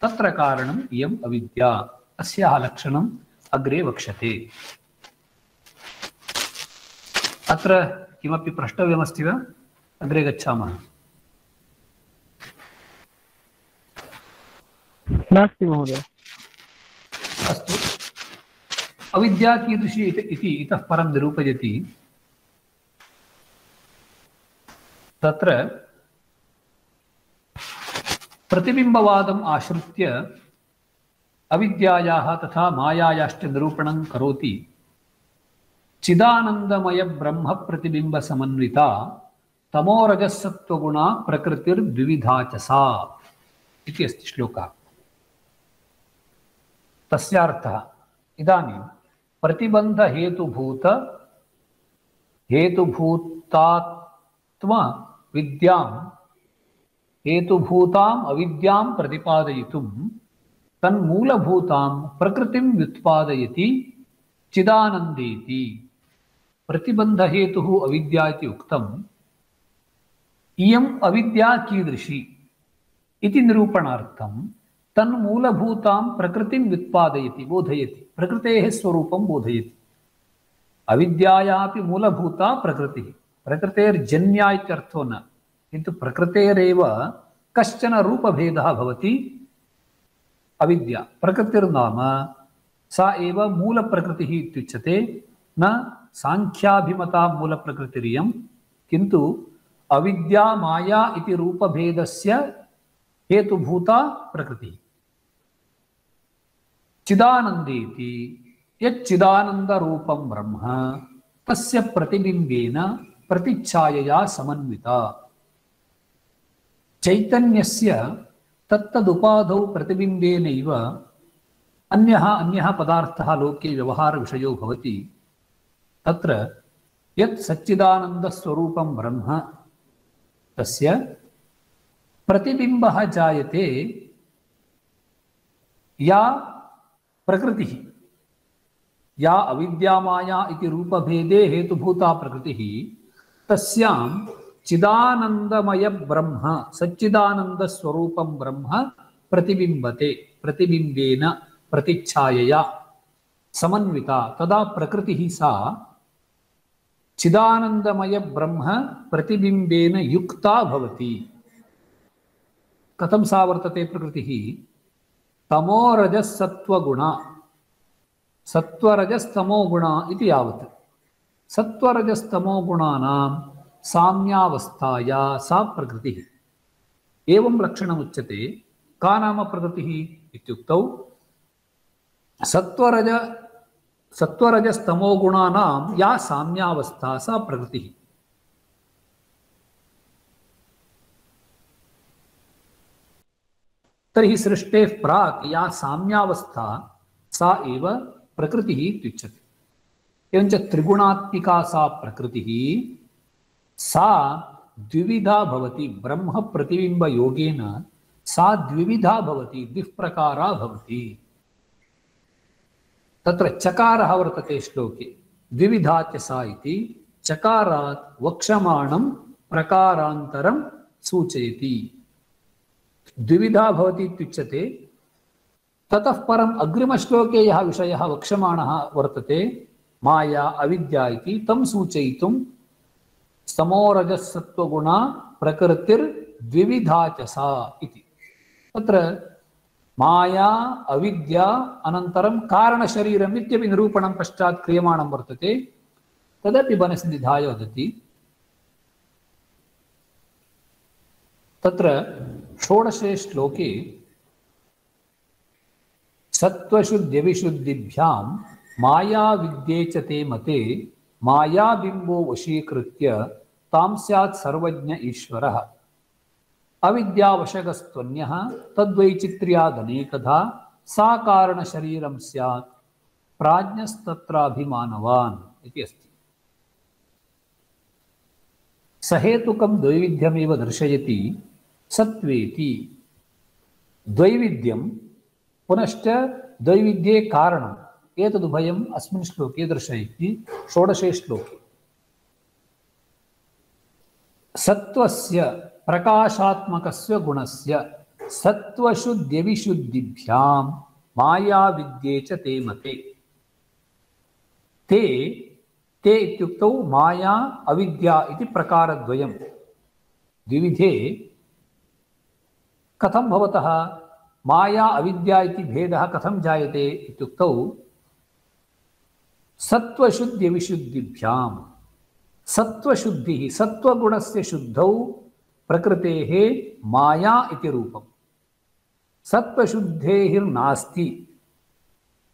तत्र कारणम् इयम् अविद्या अस्याः लक्षणम् अग्रे वक्ष्यते अत्र किमपि प्रष्टव्यमस्ति वा अग्रे गच्छामः नास्ति महोदय अस्तु अविद्या कीदृशी इति इतः परं निरूपयति तत्र प्रतिबिम्बवादम् आश्रित्य अविद्यायाः तथा मायायाश्च निरूपणं करोति चिदानन्दमय ब्रह्म प्रतिबिम्ब समन्विता तमोरजसत्त्वगुणा प्रकृतिर्द्विविधा च सा इति अस्ति श्लोकः तस्यार्थः इदानीं हेतुभूतात्म विद्यां हेतुभूताम् अविद्यां प्रतिपादयितुं तन्मूलभूतां प्रकृतिं व्युत्पादयति चिदानन्देति प्रतिबन्धहेतुः अविद्या इति उक्तम् इयम् अविद्या कीदृशी इति निरूपणार्थं तन्मूलभूतां प्रकृतिं व्युत्पादयति बोधयति प्रकृतेः स्वरूपं बोधयति अविद्यायापि मूलभूता प्रकृतिः प्रकृतेर्जन्या इत्यर्थो न किन्तु प्रकृतेरेव कश्चन रूपभेदः भवति अविद्या प्रकृतिर्नाम सा एव मूलप्रकृतिः इत्युच्यते न सांख्याभिमता मूलप्रकृतिरियं किन्तु अविद्या माया इति रूपभेदस्य हेतुभूता प्रकृतिः चिदानन्देति यच्चिदानन्दरूपं ब्रह्म तस्य प्रतिबिम्बेन प्रतिच्छायया समन्विता चैतन्यस्य तत्तदुपाधौ प्रतिबिम्बेनैव अन्यः पदार्थः लोके व्यवहारविषयो भवति तत्र यत् सच्चिदानन्दस्वरूपं ब्रह्म तस्य प्रतिबिम्बः जायते या प्रकृतिः या अविद्यामाया इति रूपभेदे हेतुभूता प्रकृतिः तस्यां चिदानन्दमय ब्रह्म सच्चिदानन्दस्वरूपं ब्रह्म प्रतिबिम्बते प्रतिबिम्बेन प्रतिच्छायया समन्विता तदा प्रकृतिः सा चिदानन्दमय ब्रह्म प्रतिबिम्बेन युक्ता भवति कथं सा वर्तते प्रकृतिः तमोरजसत्त्वगुणा सत्त्वरजस्तमोगुणा इति यावत् सत्त्वरजस्तमोगुणानां साम्यावस्थाया सा प्रकृतिः एवं लक्षणमुच्यते का नाम प्रकृतिः इत्युक्तौ सत्त्वरजस्तमोगुणानां या साम्यावस्था सा प्रकृतिः तर्हि सृष्टेः प्राक् या साम्यावस्था सा एव प्रकृतिः इत्युच्यते एवञ्च त्रिगुणात्मिका सा प्रकृतिः सा द्विविधा भवति ब्रह्म प्रतिबिम्बयोगेन सा द्विविधा भवति द्विप्रकारा भवति तत्र चकारः वर्तते श्लोके द्विविधा च सा इति चकारात् वक्ष्यमाणं प्रकारान्तरं सूचयति द्विविधा भवति इत्युच्यते ततः परम् अग्रिमश्लोके यः विषयः वक्ष्यमाणः वर्तते माया अविद्या इति तं सूचयितुं समोरजसत्त्वगुणा प्रकृतिर्द्विविधा च सा इति तत्र माया अविद्या अनन्तरं कारणशरीरम् इत्यपि निरूपणं पश्चात् क्रियमाणं वर्तते तदपि मनसि निधाय वदति तत्र षोडशे श्लोके सत्त्वशुद्ध्यविशुद्धिभ्यां मायाविद्ये च ते मते मायाबिम्बो वशीकृत्य तां स्यात् सर्वज्ञ ईश्वरः अविद्यावशगस्त्वन्यः तद्वैचित्र्यादनेकधा सा कारणशरीरं स्यात् प्राज्ञस्तत्राभिमानवान् इति अस्ति सहेतुकं द्वैविध्यमेव दर्शयति सत्त्वेति द्वैविध्यं पुनश्च द्वैविध्ये कारणम् एतदुभयम् अस्मिन् श्लोके दर्शयति षोडशे श्लोके सत्त्वस्य प्रकाशात्मकस्य गुणस्य सत्त्वशुद्ध्यविशुद्धिभ्यां मायाविद्ये च ते मते ते इत्युक्तौ माया अविद्या इति प्रकारद्वयं द्विविधे कथं भवतः माया अविद्या इति भेदः कथं जायते इत्युक्तौ सत्त्वशुद्ध्यविशुद्धिभ्यां सत्त्वशुद्धिः सत्त्वगुणस्य शुद्धौ प्रकृतेः माया इति रूपं सत्त्वशुद्धेर्नास्ति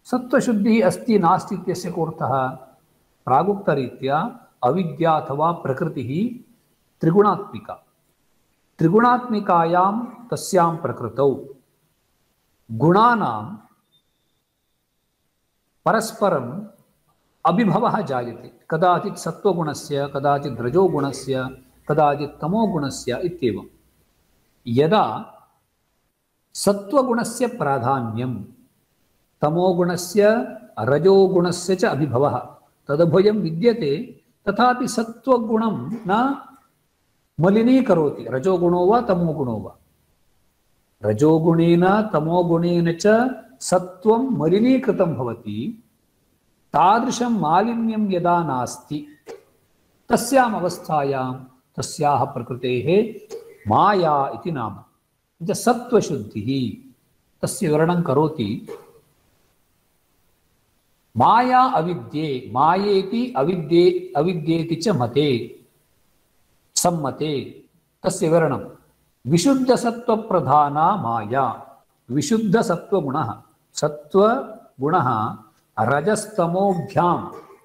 सत्त्वशुद्धिः अस्ति नास्ति इत्यस्य कोऽर्थः प्रागुक्तरीत्या अविद्या अथवा प्रकृतिः त्रिगुणात्मिका त्रिगुणात्मिकायां तस्यां प्रकृतौ गुणानां परस्परम् अभिभवः जायते कदाचित् सत्त्वगुणस्य कदाचित् रजोगुणस्य कदाचित् तमोगुणस्य इत्येवं यदा सत्त्वगुणस्य प्राधान्यं तमोगुणस्य रजोगुणस्य च अभिभवः तदुभयं विद्यते तथापि सत्त्वगुणं न मलिनीकरोति रजोगुणो वा तमोगुणो वा रजोगुणेन तमोगुणेन च सत्वं मलिनीकृतं भवति। तादृशं मालिन्यं यदा नास्ति तस्याम् अवस्थायां तस्याः प्रकृतेः माया इति नाम। सत्त्वशुद्धिः तस्य विवरणं करोति। माया अविद्ये, मायेति अविद्येति च मते सम्मते तस्य विवरणं। विशुद्धसत्त्वप्रधाना माया, विशुद्धसत्त्वगुणः, सत्त्वगुणः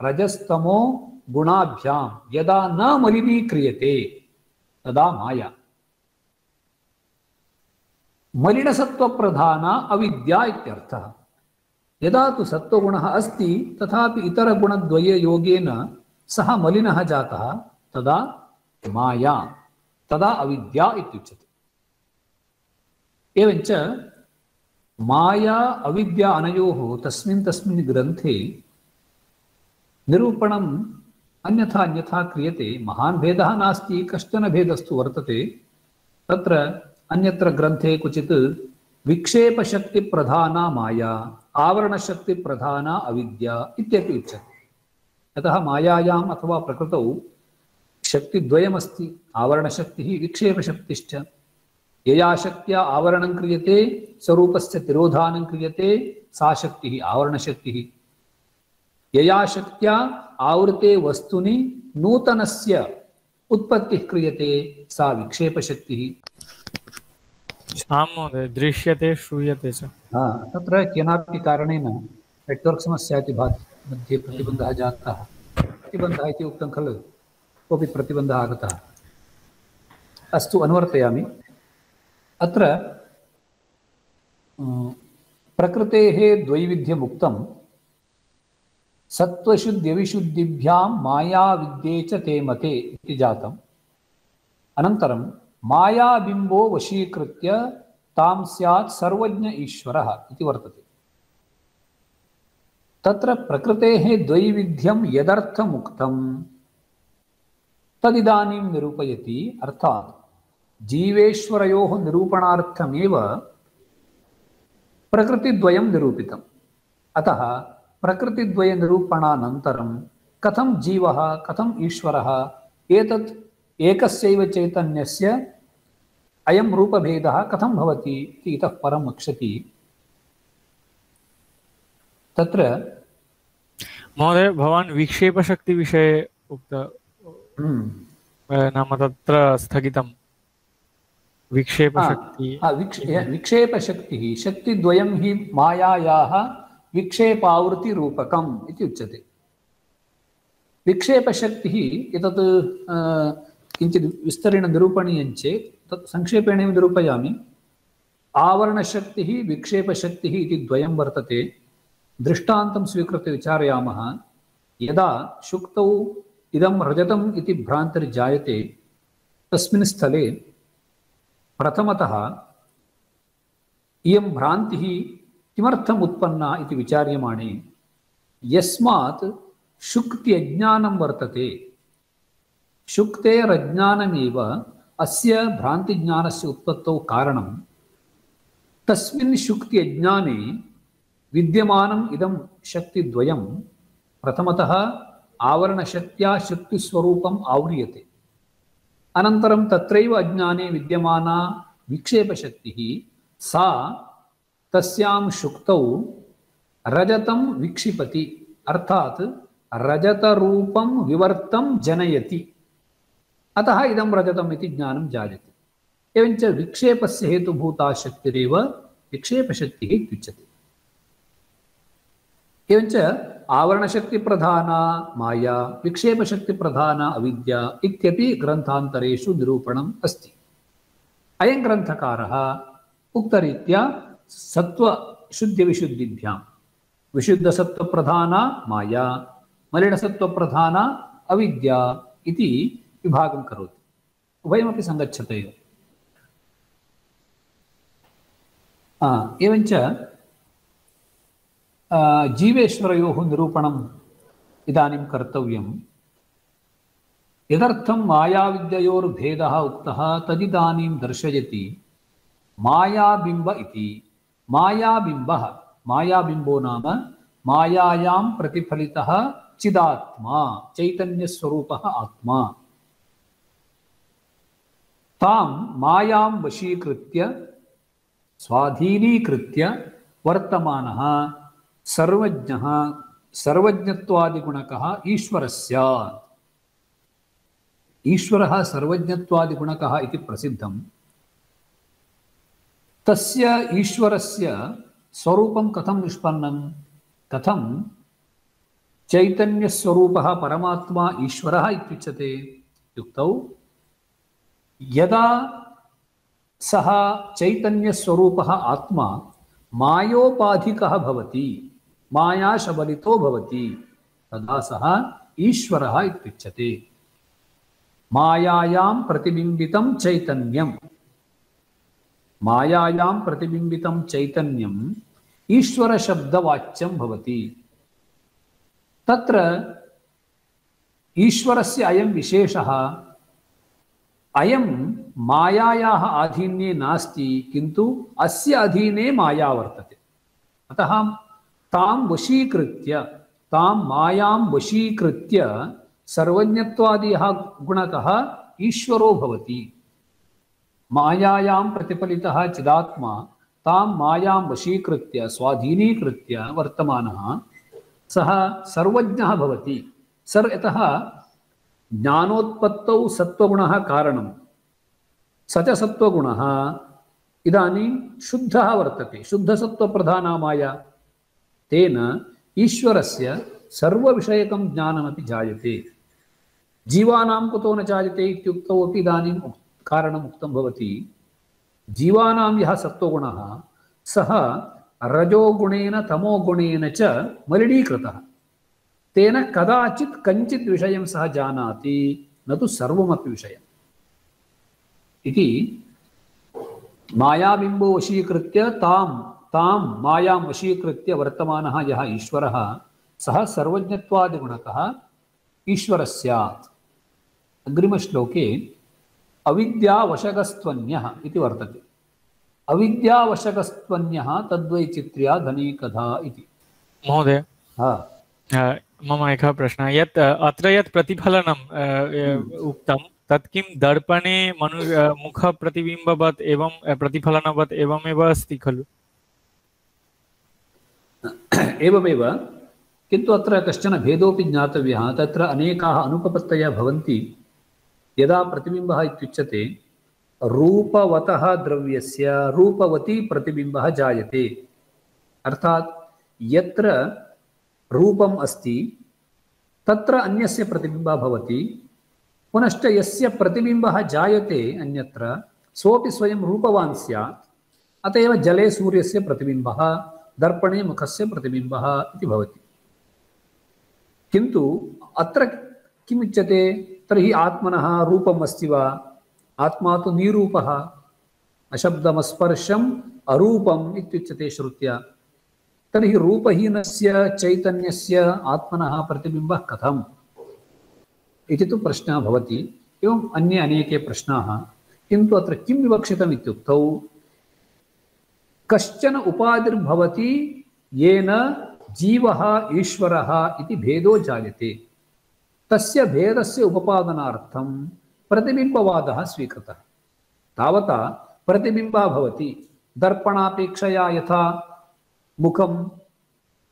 रजस्तमो गुणाभ्यां यदा न मलिनीक्रियते तदा माया। मलिनसत्त्वप्रधाना अविद्या इत्यर्थः। यदा तु सत्त्वगुणः अस्ति तथापि इतरगुणद्वये योगेन सः मलिनः जातः तदा माया, तदा अविद्या इत्युच्यते। एवञ्च माया अविद्या अनयोः तस्मिन् ग्रन्थे निरूपणम् अन्यथा अन्यथा क्रियते। महान् भेदः नास्ति, कश्चन भेदस्तु वर्तते। तत्र अन्यत्र ग्रन्थे क्वचित् विक्षेपशक्तिप्रधाना माया, आवरणशक्तिप्रधाना अविद्या इत्यपि उच्यते। अतः मायायाम् अथवा प्रकृतौ शक्तिद्वयमस्ति, आवरणशक्तिः विक्षेपशक्तिश्च। यया शक्त्या आवरणं क्रियते, स्वरूपस्य तिरोधानं क्रियते, सा शक्तिः आवरणशक्तिः। यया शक्त्या आवृते वस्तुनि नूतनस्य उत्पत्तिः क्रियते, सा विक्षेपशक्तिः। आं महोदय, दृश्यते श्रूयते च। तत्र केनापि कारणेन नेट्वर्क् समस्या इति भाति, मध्ये प्रतिबन्धः जातः। प्रतिबन्धः इति उक्तं खलु, कोऽपि प्रतिबन्धः आगतः। अस्तु, अनुवर्तयामि। अत्र प्रकृतेः द्वैविध्यमुक्तं। सत्त्वशुद्ध्यविशुद्धिभ्यां मायाविद्ये च ते मते इति जातम्। अनन्तरं मायाबिम्बो वशीकृत्य तां स्यात् सर्वज्ञ ईश्वरः इति वर्तते। तत्र प्रकृतेः द्वैविध्यं यदर्थमुक्तं तदिदानीं निरूपयति। अर्थात् जीवेश्वरयोः निरूपणार्थमेव प्रकृतिद्वयं निरूपितम्। अतः प्रकृतिद्वयनिरूपणानन्तरं कथं जीवः कथम् ईश्वरः, एतत् एकस्यैव चैतन्यस्य अयं रूपभेदः कथं भवति इति इतः परं वक्ष्यति। तत्र महोदय, भवान् विक्षेपशक्तिविषये उक्त, नाम तत्र स्थगितं विक्षेपशक्ति। विक्षेपशक्तिः, शक्तिद्वयं हि मायायाः विक्षेपावृत्तिरूपकम् इति उच्यते। विक्षेपशक्तिः एतत् किञ्चित् विस्तरेण निरूपणीयं चेत् तत् संक्षेपेणैव निरूपयामि। आवरणशक्तिः विक्षेपशक्तिः इति द्वयं वर्तते। दृष्टान्तं स्वीकृत्य विचारयामः। यदा शुक्तौ इदं रजतम् इति भ्रान्तिर्जायते तस्मिन् स्थले प्रथमतः इयं भ्रान्तिः किमर्थम् उत्पन्ना इति विचार्यमाणे यस्मात् शुक्त्यज्ञानं वर्तते। शुक्तेरज्ञानमेव अस्य भ्रान्तिज्ञानस्य उत्पत्तौ कारणं। तस्मिन् शुक्त्यज्ञाने विद्यमानम् इदं शक्तिद्वयं प्रथमतः आवरणशक्त्या शक्तिस्वरूपम् आव्रियते। अनन्तरं तत्रैव अज्ञाने विद्यमाना विक्षेपशक्तिः सा तस्यां शुक्तौ रजतं विक्षिपति, अर्थात् रजतरूपं विवर्तं जनयति। अतः इदं रजतम् इति ज्ञानं जायते। एवञ्च विक्षेपस्य हेतुभूता शक्तिरेव विक्षेपशक्तिः इत्युच्यते। एवञ्च आवरणशक्तिप्रधाना माया, विक्षेपशक्तिप्रधाना अविद्या इत्यपि ग्रन्थान्तरेषु निरूपणम् अस्ति। अयं ग्रन्थकारः उक्तरीत्या सत्त्वशुद्ध्यविशुद्धिभ्यां विशुद्धसत्त्वप्रधाना माया, मलिनसत्त्वप्रधाना अविद्या इति विभागं करोति। उभयमपि सङ्गच्छते एव। एवञ्च जीवेश्वरयोः निरूपणम् इदानीं कर्तव्यं। यदर्थं मायाविद्ययोर्भेदः उक्तः तदिदानीं दर्शयति। मायाबिम्ब इति। मायाबिम्बः, मायाबिम्बो नाम मायायां प्रतिफलितः चिदात्मा, चैतन्यस्वरूपः आत्मा। तां मायां वशीकृत्य स्वाधीनीकृत्य वर्तमानः सर्वज्ञः सर्वज्ञत्वादिगुणकः ईश्वरस्य। ईश्वरः सर्वज्ञत्वादिगुणकः इति प्रसिद्धं। तस्य ईश्वरस्य स्वरूपं कथं निष्पन्नं? कथं चैतन्यस्वरूपः परमात्मा ईश्वरः इत्युच्यते इत्युक्तौ यदा सः चैतन्यस्वरूपः आत्मा मायोपाधिकः भवति, मायाशबलितो भवति, तदा सः ईश्वरः इत्युच्यते। मायायां प्रतिबिम्बितं चैतन्यं, मायायां प्रतिबिम्बितं चैतन्यं ईश्वरशब्दवाच्यं भवति। तत्र ईश्वरस्य अयं विशेषः, अयं मायायाः अधीने नास्ति, किन्तु अस्य अधीने माया वर्तते। अतः तां वशीकृत्य, तां मायां वशीकृत्य सर्वज्ञत्वादिः गुणकः ईश्वरो भवति। मायायां प्रतिफलितः चिदात्मा तां मायां वशीकृत्य स्वाधीनीकृत्य वर्तमानः सः सर्वज्ञः भवति। यतः ज्ञानोत्पत्तौ सत्त्वगुणः कारणं, स च सत्त्वगुणः इदानीं शुद्धः वर्तते, शुद्धसत्त्वप्रधाना माया। तेन ईश्वरस्य सर्वविषयकं ज्ञानमपि जायते। जीवानां कुतो न जायते इत्युक्तौ अपि इदानीं कारणम् उक्तं भवति। जीवानां यः सत्त्वगुणः सः रजोगुणेन तमोगुणेन च मलिनीकृतः। तेन कदाचित् कञ्चित् विषयं सः जानाति, न तु सर्वमपि विषयम् इति। मायाबिम्बो वशीकृत्य तां मायां वशीकृत्य वर्तमानः यः ईश्वरः सः सर्वज्ञत्वादिगुणकः ईश्वरः स्यात्। अग्रिमश्लोके अविद्यावशगस्त्वन्यः इति वर्तते। अविद्यावशगस्त्वन्यः तद्वैचित्र्या धनीकथा इति। महोदय, मम एकः प्रश्नः, यत् अत्र यत् प्रतिफलनम् उक्तं तत् किं दर्पणे मुखप्रतिबिम्बवत् एवं प्रतिफलनवत् एवमेव अस्ति खलु? एवमेव, किन्तु अत्र कश्चन भेदोऽपि ज्ञातव्यः। तत्र अनेकाः अनुपपत्तयः भवन्ति। यदा प्रतिबिम्बः इत्युच्यते रूपवतः द्रव्यस्य रूपवती प्रतिबिम्बः जायते, अर्थात् यत्र रूपम् अस्ति तत्र अन्यस्य प्रतिबिम्बः भवति। पुनश्च यस्य प्रतिबिम्बः जायते अन्यत्र सोऽपि स्वयं रूपवान् स्यात्। अत एव जले सूर्यस्य प्रतिबिम्बः, दर्पणे मुखस्य प्रतिबिम्बः इति भवति। किन्तु अत्र किमुच्यते? तर्हि आत्मनः रूपम् अस्ति वा? आत्मा तु निरूपः, अशब्दमस्पर्शम् अरूपम् इत्युच्यते श्रुत्या। तर्हि रूपहीनस्य चैतन्यस्य आत्मनः प्रतिबिम्बः कथम् इति तु प्रश्नः भवति। एवम् अन्ये अनेके प्रश्नाः। किन्तु अत्र किं विवक्षितम् इत्युक्तौ कश्चन उपाधिर्भवति येन जीवः ईश्वरः इति भेदो जायते। तस्य भेदस्य उपपादनार्थं प्रतिबिम्बवादः स्वीकृतः। तावता प्रतिबिम्बः भवति। दर्पणापेक्षया यथा मुखं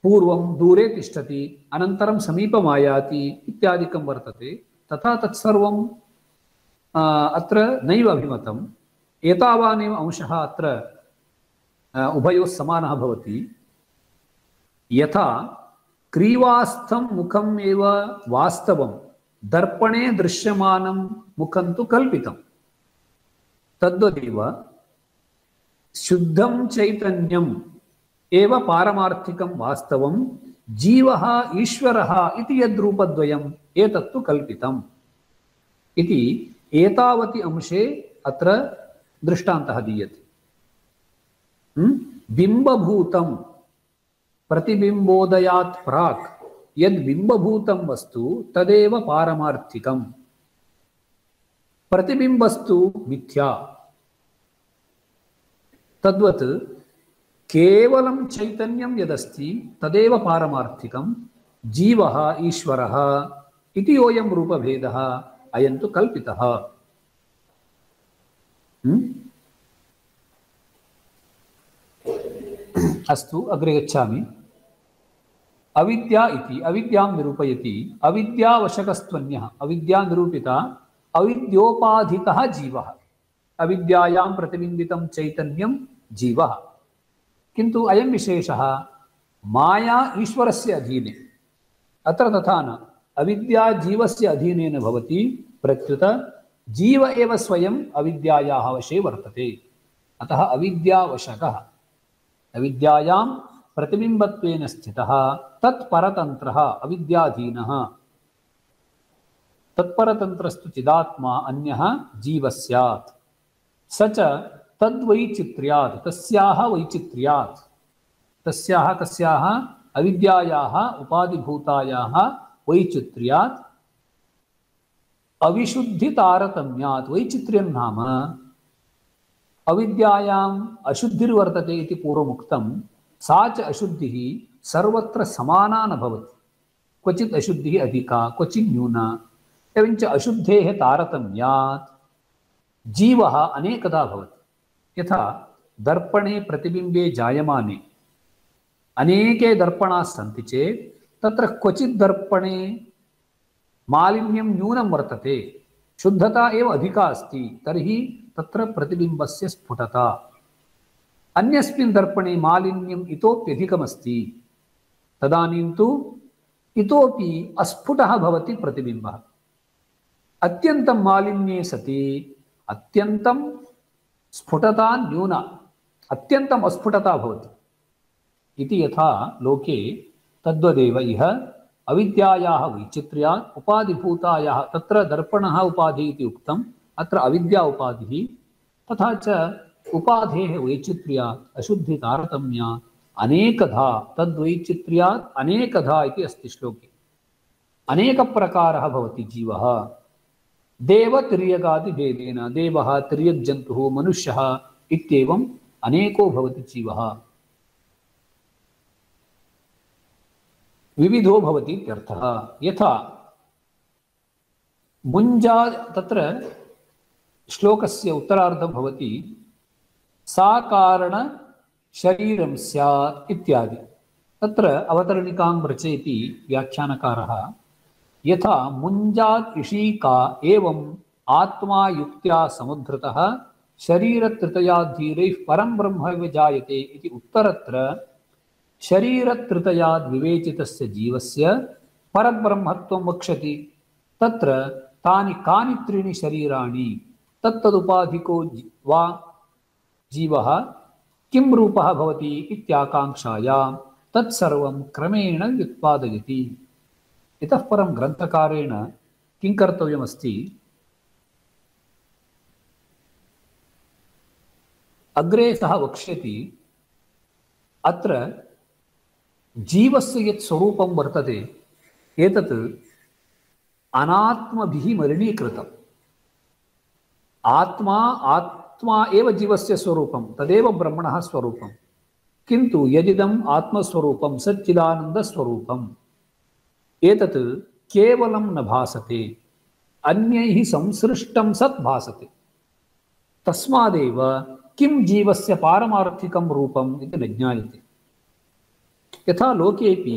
पूर्वं दूरे तिष्ठति, अनन्तरं समीपमायाति इत्यादिकं वर्तते, तथा तत्सर्वं अत्र नैव अभिमतम्। एतावानेव अंशः अत्र उभयोः समानः भवति। यथा क्रीवास्थं मुखम् एव वास्तवं, दर्पणे दृश्यमानं मुखं तु कल्पितं, तद्वदेव शुद्धं चैतन्यम् एव पारमार्थिकं वास्तवं, जीवः ईश्वरः इति यद्रूपद्वयम् एतत्तु कल्पितम् इति एतावति अंशे अत्र दृष्टान्तः दीयते। बिम्बभूतं प्रतिबिम्बोदयात् प्राक् यद्बिम्बभूतं वस्तु तदेव पारमार्थिकम्, प्रतिबिम्बस्तु मिथ्या। तद्वत् केवलं चैतन्यं यदस्ति तदेव पारमार्थिकं, जीवः ईश्वरः इति योऽयं रूपभेदः अयं तु कल्पितः। अस्तु, अग्रे गच्छामि। अविद्या इति अविद्यां निरूपयति। अविद्यावशकस्त्वन्यः, अविद्या निरूपिता, अविद्योपाधिकः जीवः, अविद्यायां प्रतिबिम्बितं चैतन्यं जीवः। किन्तु अयं विशेषः माया ईश्वरस्य अधीने, अत्र तथा न। अविद्या जीवस्य अधीने न भवति, प्रत्युत जीव एव स्वयं अविद्यायाः वशे वर्तते। अतः अविद्यावशकः, अविद्यायां प्रतिबिम्बत्वेन स्थितः तत्परतन्त्रः अविद्याधीनः। तत्परतन्त्रस्तु चिदात्मा अन्यः जीवः स्यात्। स च तद्वैचित्र्यात्, तस्याः वैचित्र्यात्, तस्याः कस्याः अविद्यायाः उपाधिभूतायाः वैचित्र्यात्, अविशुद्धितारतम्यात्। वैचित्र्यं नाम अविद्यायाम् अशुद्धिर्वर्तते इति पूर्वमुक्तं, सा च अशुद्धिः सर्वत्र समाना न भवति। क्वचित् अशुद्धिः अधिका, क्वचित् न्यूना। एवञ्च अशुद्धेः तारतम्यात् जीवः अनेकदा भवति। यथा दर्पणे प्रतिबिम्बे जायमाने अनेके दर्पणाः सन्ति चेत् तत्र क्वचित् दर्पणे मालिन्यं न्यूनं वर्तते, शुद्धता एव अधिका अस्ति, तर्हि तत्र प्रतिबिम्बस्य स्फुटता। अन्यस्मिन् दर्पणे मालिन्यम् इतोप्यधिकमस्ति, तदानीं तु इतोपि अस्फुटः भवति प्रतिबिम्बः। अत्यन्तं मालिन्ये सति अत्यन्तं स्फुटता न्यूना, अत्यन्तम् अस्फुटता भवति इति यथा लोके, तद्वदेव इह अविद्यायाः वैचित्र्यात् उपाधिभूतायाः, तत्र दर्पणः उपाधिः इति उक्तम्, अत्र अविद्या उपाधिः, तथा च उपाधेः वैचित्र्यात् अशुद्धितारतम्यात् अनेकधा, तद्वैचित्र्यात् अनेकधा इति अस्ति श्लोके। अनेकप्रकारः भवति जीवः। देवतिर्यगादिभेदेन, देवः, तिर्यग्जन्तुः, मनुष्यः इत्येवम् अनेको भवति जीवः। विविधो भवति इत्यर्थः। यथा मुञ्जा, तत्र श्लोकस्य उत्तरार्धं भवति साकारण शरीरं स्यात् इत्यादि। तत्र अवतरणिकां रचयति व्याख्यानकारः, यथा मुञ्जात् ईशीका एवं आत्मा युक्त्या समुद्धृतः शरीरत्रितयाद्धीरैः परं ब्रह्म विजायते इति उत्तरत्र शरीरत्रितयाद् विवेचितस्य जीवस्य परब्रह्मत्वं वक्ष्यति। तत्र तानि कानि त्रीणि शरीराणि, तत्तदुपाधिको वा जीवः किं रूपः भवति इत्याकाङ्क्षायां तत्सर्वं क्रमेण व्युत्पादयति। इतः परं ग्रन्थकारेण किं कर्तव्यमस्ति, अग्रे सः वक्ष्यति, अत्र जीवस्य यत् स्वरूपं वर्तते एतत् अनात्मभिः मलिनीकृतम्। आत्मा एव जीवस्य स्वरूपं, तदेव ब्रह्मणः स्वरूपं। किन्तु यदिदम् आत्मस्वरूपं सच्चिदानन्दस्वरूपम् एतत् केवलं न भासते, अन्यैः संसृष्टं सत् भासते। तस्मादेव किं जीवस्य पारमार्थिकं रूपम् इति न ज्ञायते। यथा लोकेपि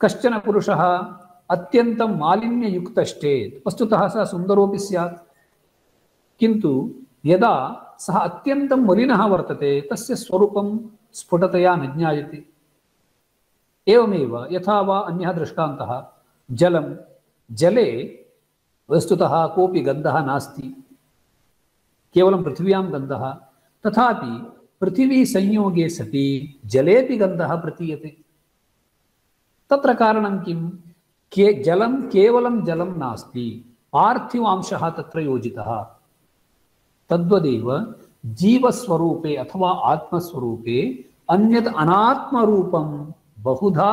कश्चन पुरुषः अत्यन्तं मालिन्ययुक्तश्चेत् वस्तुतः सः सुन्दरोऽपि स्यात्, किन्तु यदा सः अत्यन्तं मलिनः वर्तते तस्य स्वरूपं स्फुटतया न ज्ञायते। एवमेव यथा वा अन्यः दृष्टान्तः, जलं, जले वस्तुतः कोऽपि गन्धः नास्ति, केवलं पृथिव्यां गन्धः, तथापि पृथिवीसंयोगे सति जलेपि गन्धः प्रतीयते। तत्र कारणं किं? जलं केवलं जलं नास्ति, पार्थिवांशः तत्र योजितः। तद्वदेव जीवस्वरूपे अथवा आत्मस्वरूपे अन्यत् अनात्मरूपं बहुधा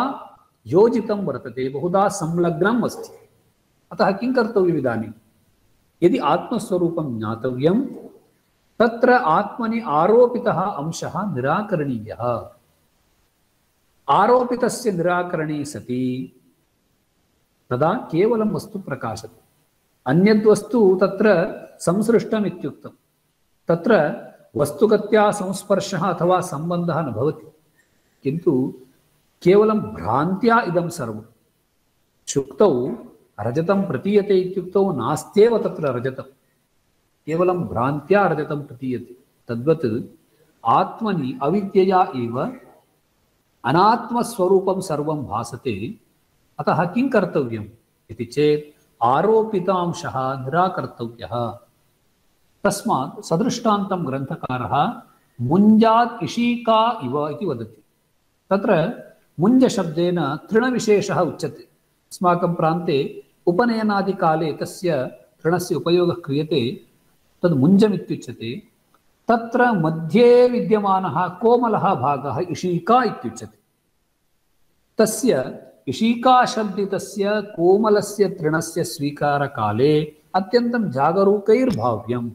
योजितं वर्तते, बहुधा संलग्नम् अस्ति। अतः किं कर्तव्यम् इदानीं? यदि आत्मस्वरूपं ज्ञातव्यं तत्र आत्मनि आरोपितः अंशः निराकरणीयः। आरोपितस्य निराकरणे सति तदा केवलं वस्तु प्रकाशते। अन्यद्वस्तु तत्र संसृष्टम् इत्युक्तं। तत्र वस्तुगत्या संस्पर्शः अथवा सम्बन्धः न भवति, किन्तु केवलं भ्रान्त्या इदं सर्वं। शुक्तौ रजतं प्रतीयते इत्युक्तौ नास्त्येव तत्र रजतं, केवलं भ्रान्त्या रजतं प्रतीयते। तद्वत् आत्मनि अविद्यया एव अनात्मस्वरूपं सर्वं भासते। अतः किं कर्तव्यम् इति चेत् आरोपितांशः निराकर्तव्यः। तस्मात् सदृष्टान्तं ग्रन्थकारः मुञ्जात् इषिका इव इति वदति। तत्र मुञ्जशब्देन तृणविशेषः उच्यते। अस्माकं प्रान्ते उपनयनादिकाले तस्य तृणस्य उपयोगः क्रियते, तद् मुञ्जमित्युच्यते। तत्र मध्ये विद्यमानः कोमलः भागः इषिका इत्युच्यते। तस्य इषिकाशब्दितस्य कोमलस्य तृणस्य स्वीकारकाले अत्यन्तं जागरूकैर्भाव्यम्,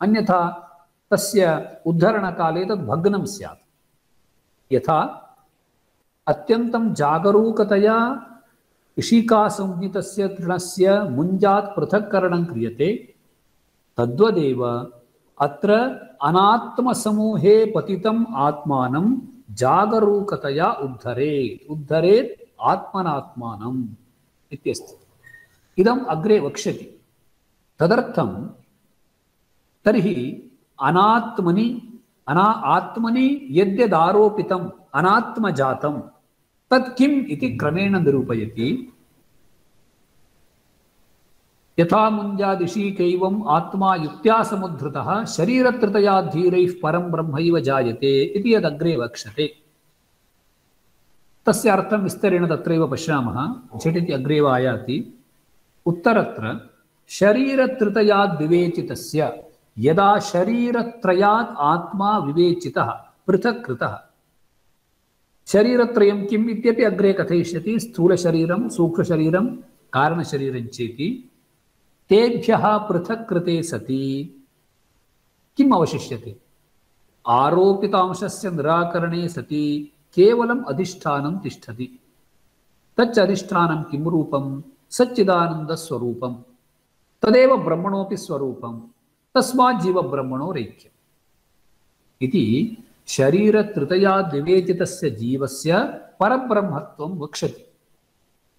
अन्यथा तस्य उद्धरणकाले तद् भग्नं स्यात्। यथा अत्यन्तं जागरूकतया इषिकासंज्ञितस्य तृणस्य मुञ्जात् पृथक्करणं क्रियते, तद्वदेव अत्र अनात्मसमूहे पतितम् आत्मानं जागरूकतया उद्धरेत् आत्मनात्मानम् इत्यस्ति। इदम् अग्रे वक्ष्यति। तदर्थं तर्हि आत्मनि यद्यदारोपितम् अनात्मजातं तत् किम् इति क्रमेण निरूपयति। यथा मुञ्जादिशीकैवम् आत्मा युक्त्या समुद्धृतः शरीरत्रतयाद्धीरैः परं ब्रह्मैव जायते इति यदग्रे वक्ष्यते। तस्य अर्थं विस्तरेण तत्रैव पश्यामः। झटिति अग्रेव आयाति। उत्तरत्र शरीरत्रतयाद् विवेचितस्य यदा शरीरत्रयात् आत्मा विवेचितः पृथक् कृतः। शरीरत्रयं किम् इत्यपि अग्रे कथयिष्यति। स्थूलशरीरं, सूक्ष्मशरीरं, कारणशरीरं चेति तेभ्यः पृथक् कृते सति किम् अवशिष्यते? आरोपितांशस्य निराकरणे सति केवलम् अधिष्ठानं तिष्ठति। तच्च अधिष्ठानं किं रूपं? सच्चिदानन्दस्वरूपं। तदेव ब्रह्मणोऽपि स्वरूपं। तस्मात् जीवब्रह्मणोरैक्यम् इति शरीरत्रतयाद् विवेचितस्य जीवस्य परब्रह्मत्वं वक्ष्यति।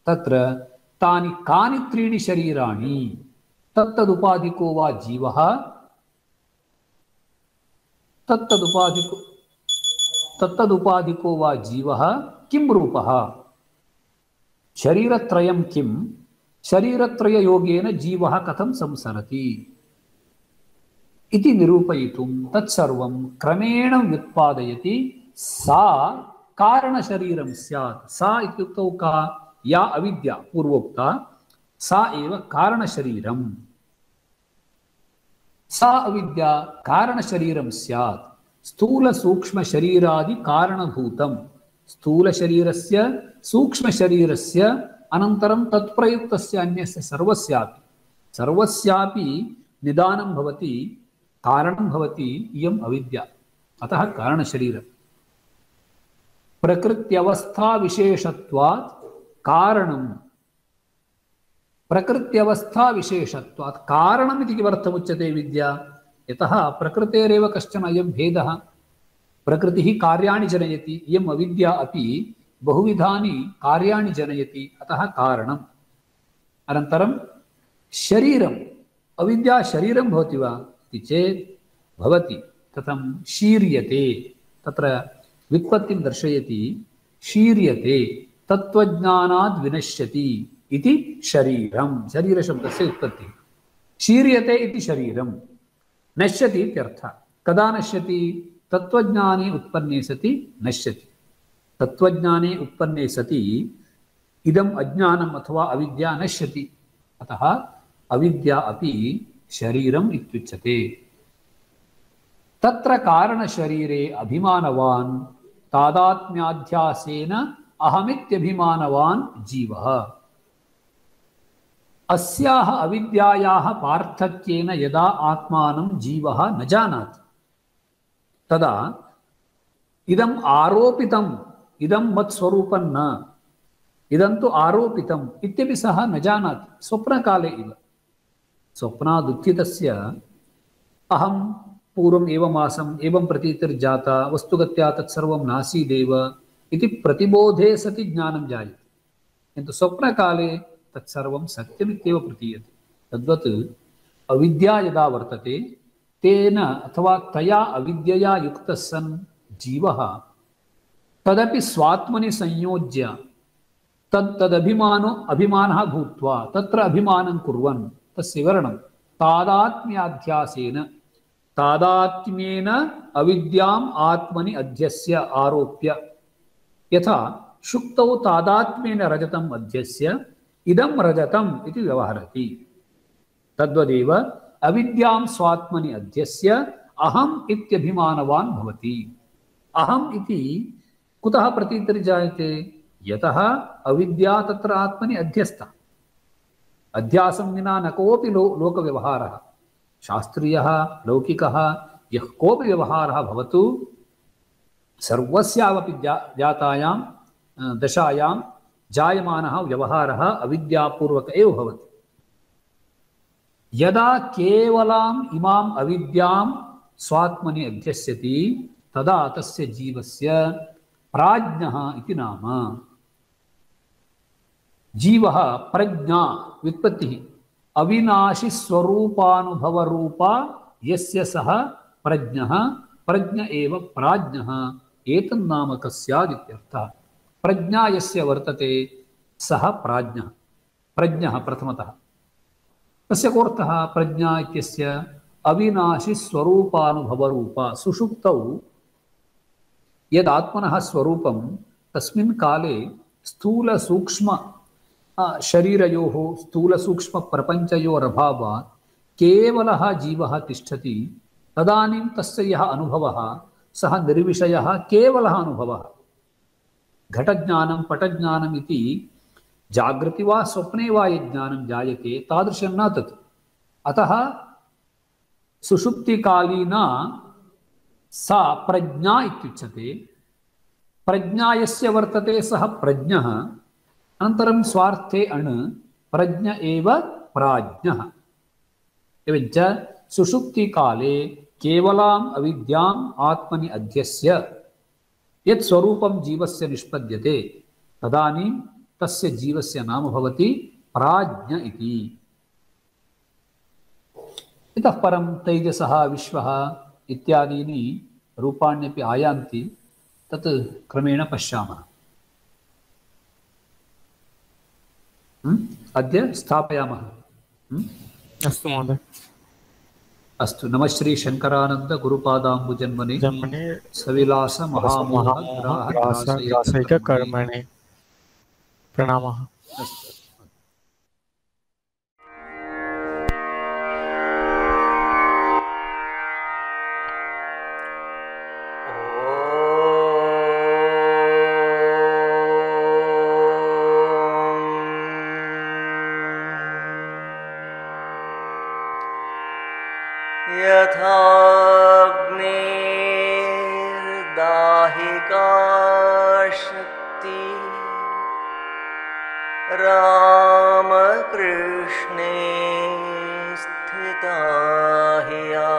तत्र तानि कानि त्रीणि शरीराणि? तत्तदुपाधिको वा जीवः, तत्तदुपाधिको वा जीवः किं रूपः? शरीरत्रयं किं? शरीरत्रययोगेन जीवः कथं संसरति इति निरूपयितुं तत्सर्वं क्रमेण व्युत्पादयति। सा कारणशरीरं स्यात्। सा इत्युक्तौ का? या अविद्या पूर्वोक्ता, सा एव कारणशरीरम्। सा अविद्या कारणशरीरं स्यात्। स्थूलसूक्ष्मशरीरादि कारणभूतं। स्थूलशरीरस्य, सूक्ष्मशरीरस्य, अनन्तरं तत्प्रयुक्तस्य अन्यस्य सर्वस्यापि निदानं भवति, कारणं भवति इयम् अविद्या। अतः कारणशरीरम्। प्रकृत्यवस्थाविशेषत्वात् कारणं। प्रकृत्यवस्थाविशेषत्वात् कारणम् इति किमर्थमुच्यते विद्या? यतः प्रकृतेरेव कश्चन अयं भेदः। प्रकृतिः कार्याणि जनयति, इयम् अविद्या अपि बहुविधानि कार्याणि जनयति, अतः कारणम्। अनन्तरं शरीरम्। अविद्या शरीरं भवति वा इति चेत् भवति। कथं? शीर्यते। तत्र व्युत्पत्तिं दर्शयति। शीर्यते तत्त्वज्ञानाद् विनश्यति इति शरीरं। शरीरशब्दस्य उत्पत्तिः। शीर्यते इति शरीरं, नश्यति इत्यर्थः। कदा नश्यति? तत्त्वज्ञाने उत्पन्ने सति नश्यति। तत्त्वज्ञाने उत्पन्ने सति इदम् अज्ञानम् अथवा अविद्या नश्यति। अतः अविद्या अपि शरीरम् इत्युच्यते। तत्र कारणशरीरे अभिमानवान् तादात्म्याध्यासेन अहमित्यभिमानवान् जीवः। अस्याः अविद्यायाः पार्थक्येन यदा आत्मानं जीवः न जानाति तदा इदम् आरोपितम् इदं मत्स्वरूपं न इदं तु आरोपितम् इत्यपि सः न जानाति स्वप्नकाले इव स्वप्नादुत्थितस्य अहं पूर्वम् एवम् आसम् एवं प्रतीतिर्जाता वस्तुगत्या तत्सर्वं नासीदेव इति प्रतिबोधे सति ज्ञानं जायते किन्तु स्वप्नकाले तत्सर्वं सत्यमित्येव प्रतीयते तद्वत् अविद्या यदा वर्तते तेन अथवा तया अविद्यया युक्तः सन् जीवः तदपि स्वात्मनि संयोज्य अभिमानः भूत्वा तत्र अभिमानं कुर्वन् तस्य विवरणं तादात्म्येन अविद्याम् आत्मनि अध्यस्य आरोप्य यथा शुक्तौ तादात्म्येन रजतम् अध्यस्य इदं रजतम् इति व्यवहरति तद्वदेव अविद्यां स्वात्मनि अध्यस्य अहम् इत्यभिमानवान् भवति अहम् इति कुतः प्रतीतिर्जायते यतः अविद्या तत्र आत्मनि अध्यस्ता अध्यासं विना न कोऽपि लोकव्यवहारः शास्त्रीयः लौकिकः यः कोऽपि व्यवहारः भवतु सर्वस्यावपि जातायां दशायां जायमानः व्यवहारः अविद्यापूर्वक एव भवति यदा केवलाम् इमाम् अविद्यां स्वात्मनि अध्यस्यति तदा तस्य जीवस्य प्राज्ञः इति नाम जीवः प्रज्ञा व्युत्पत्तिः अविनाशि स्वरूपानुभव रूपा यस्य सः प्रज्ञः प्रज्ञ एव प्राज्ञः एतन्नामकः स्यात् इत्यर्थः प्रज्ञा यस्य वर्तते सः प्राज्ञः प्रज्ञः प्रथमतः तस्य कोऽर्थः प्रज्ञा इत्यस्य अविनाशि स्वरूपानुभव रूपा सुषुप्तौ यदात्मनः स्वरूपं तस्मिन् काले स्थूल सूक्ष्म शरीरयोः स्थूल सूक्ष्म प्रपञ्चयोरभावात् केवलः जीवः तिष्ठति तदानीं तस्य यः अनुभवः सः निर्विषयः केवलः अनुभवः घटज्ञानं पटज्ञानम् इति जागृति वा स्वप्ने वा यज्ञानं जायते तादृशं न तत् अतः सुषुप्तिकालीना सा प्रज्ञा इत्युच्यते प्रज्ञा यस्य वर्तते सः प्रज्ञः अनन्तरं स्वार्थे अण् प्रज्ञ एव प्राज्ञः एवञ्च सुषुप्तिकाले केवलाम् अविद्याम् आत्मनि अध्यस्य यत् स्वरूपं जीवस्य निष्पद्यते तदानीं तस्य जीवस्य नाम भवति प्राज्ञ इति इतः परं तैजसः विश्वः इत्यादीनि रूपाण्यपि आयान्ति तत् क्रमेण पश्यामः अद्य स्थापयामः अस्तु महोदय अस्तु नमः श्री शंकरानंद गुरुपादाम्बुजन्मने सविलास महामोहग्रासैक कर्मणे प्रणामः यथाग्नेर्दाहिका शक्ति रामकृष्णे स्थिता हिया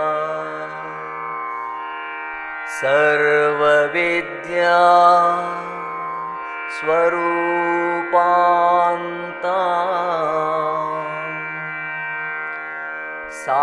सर्वविद्या स्वरूपान्ता सा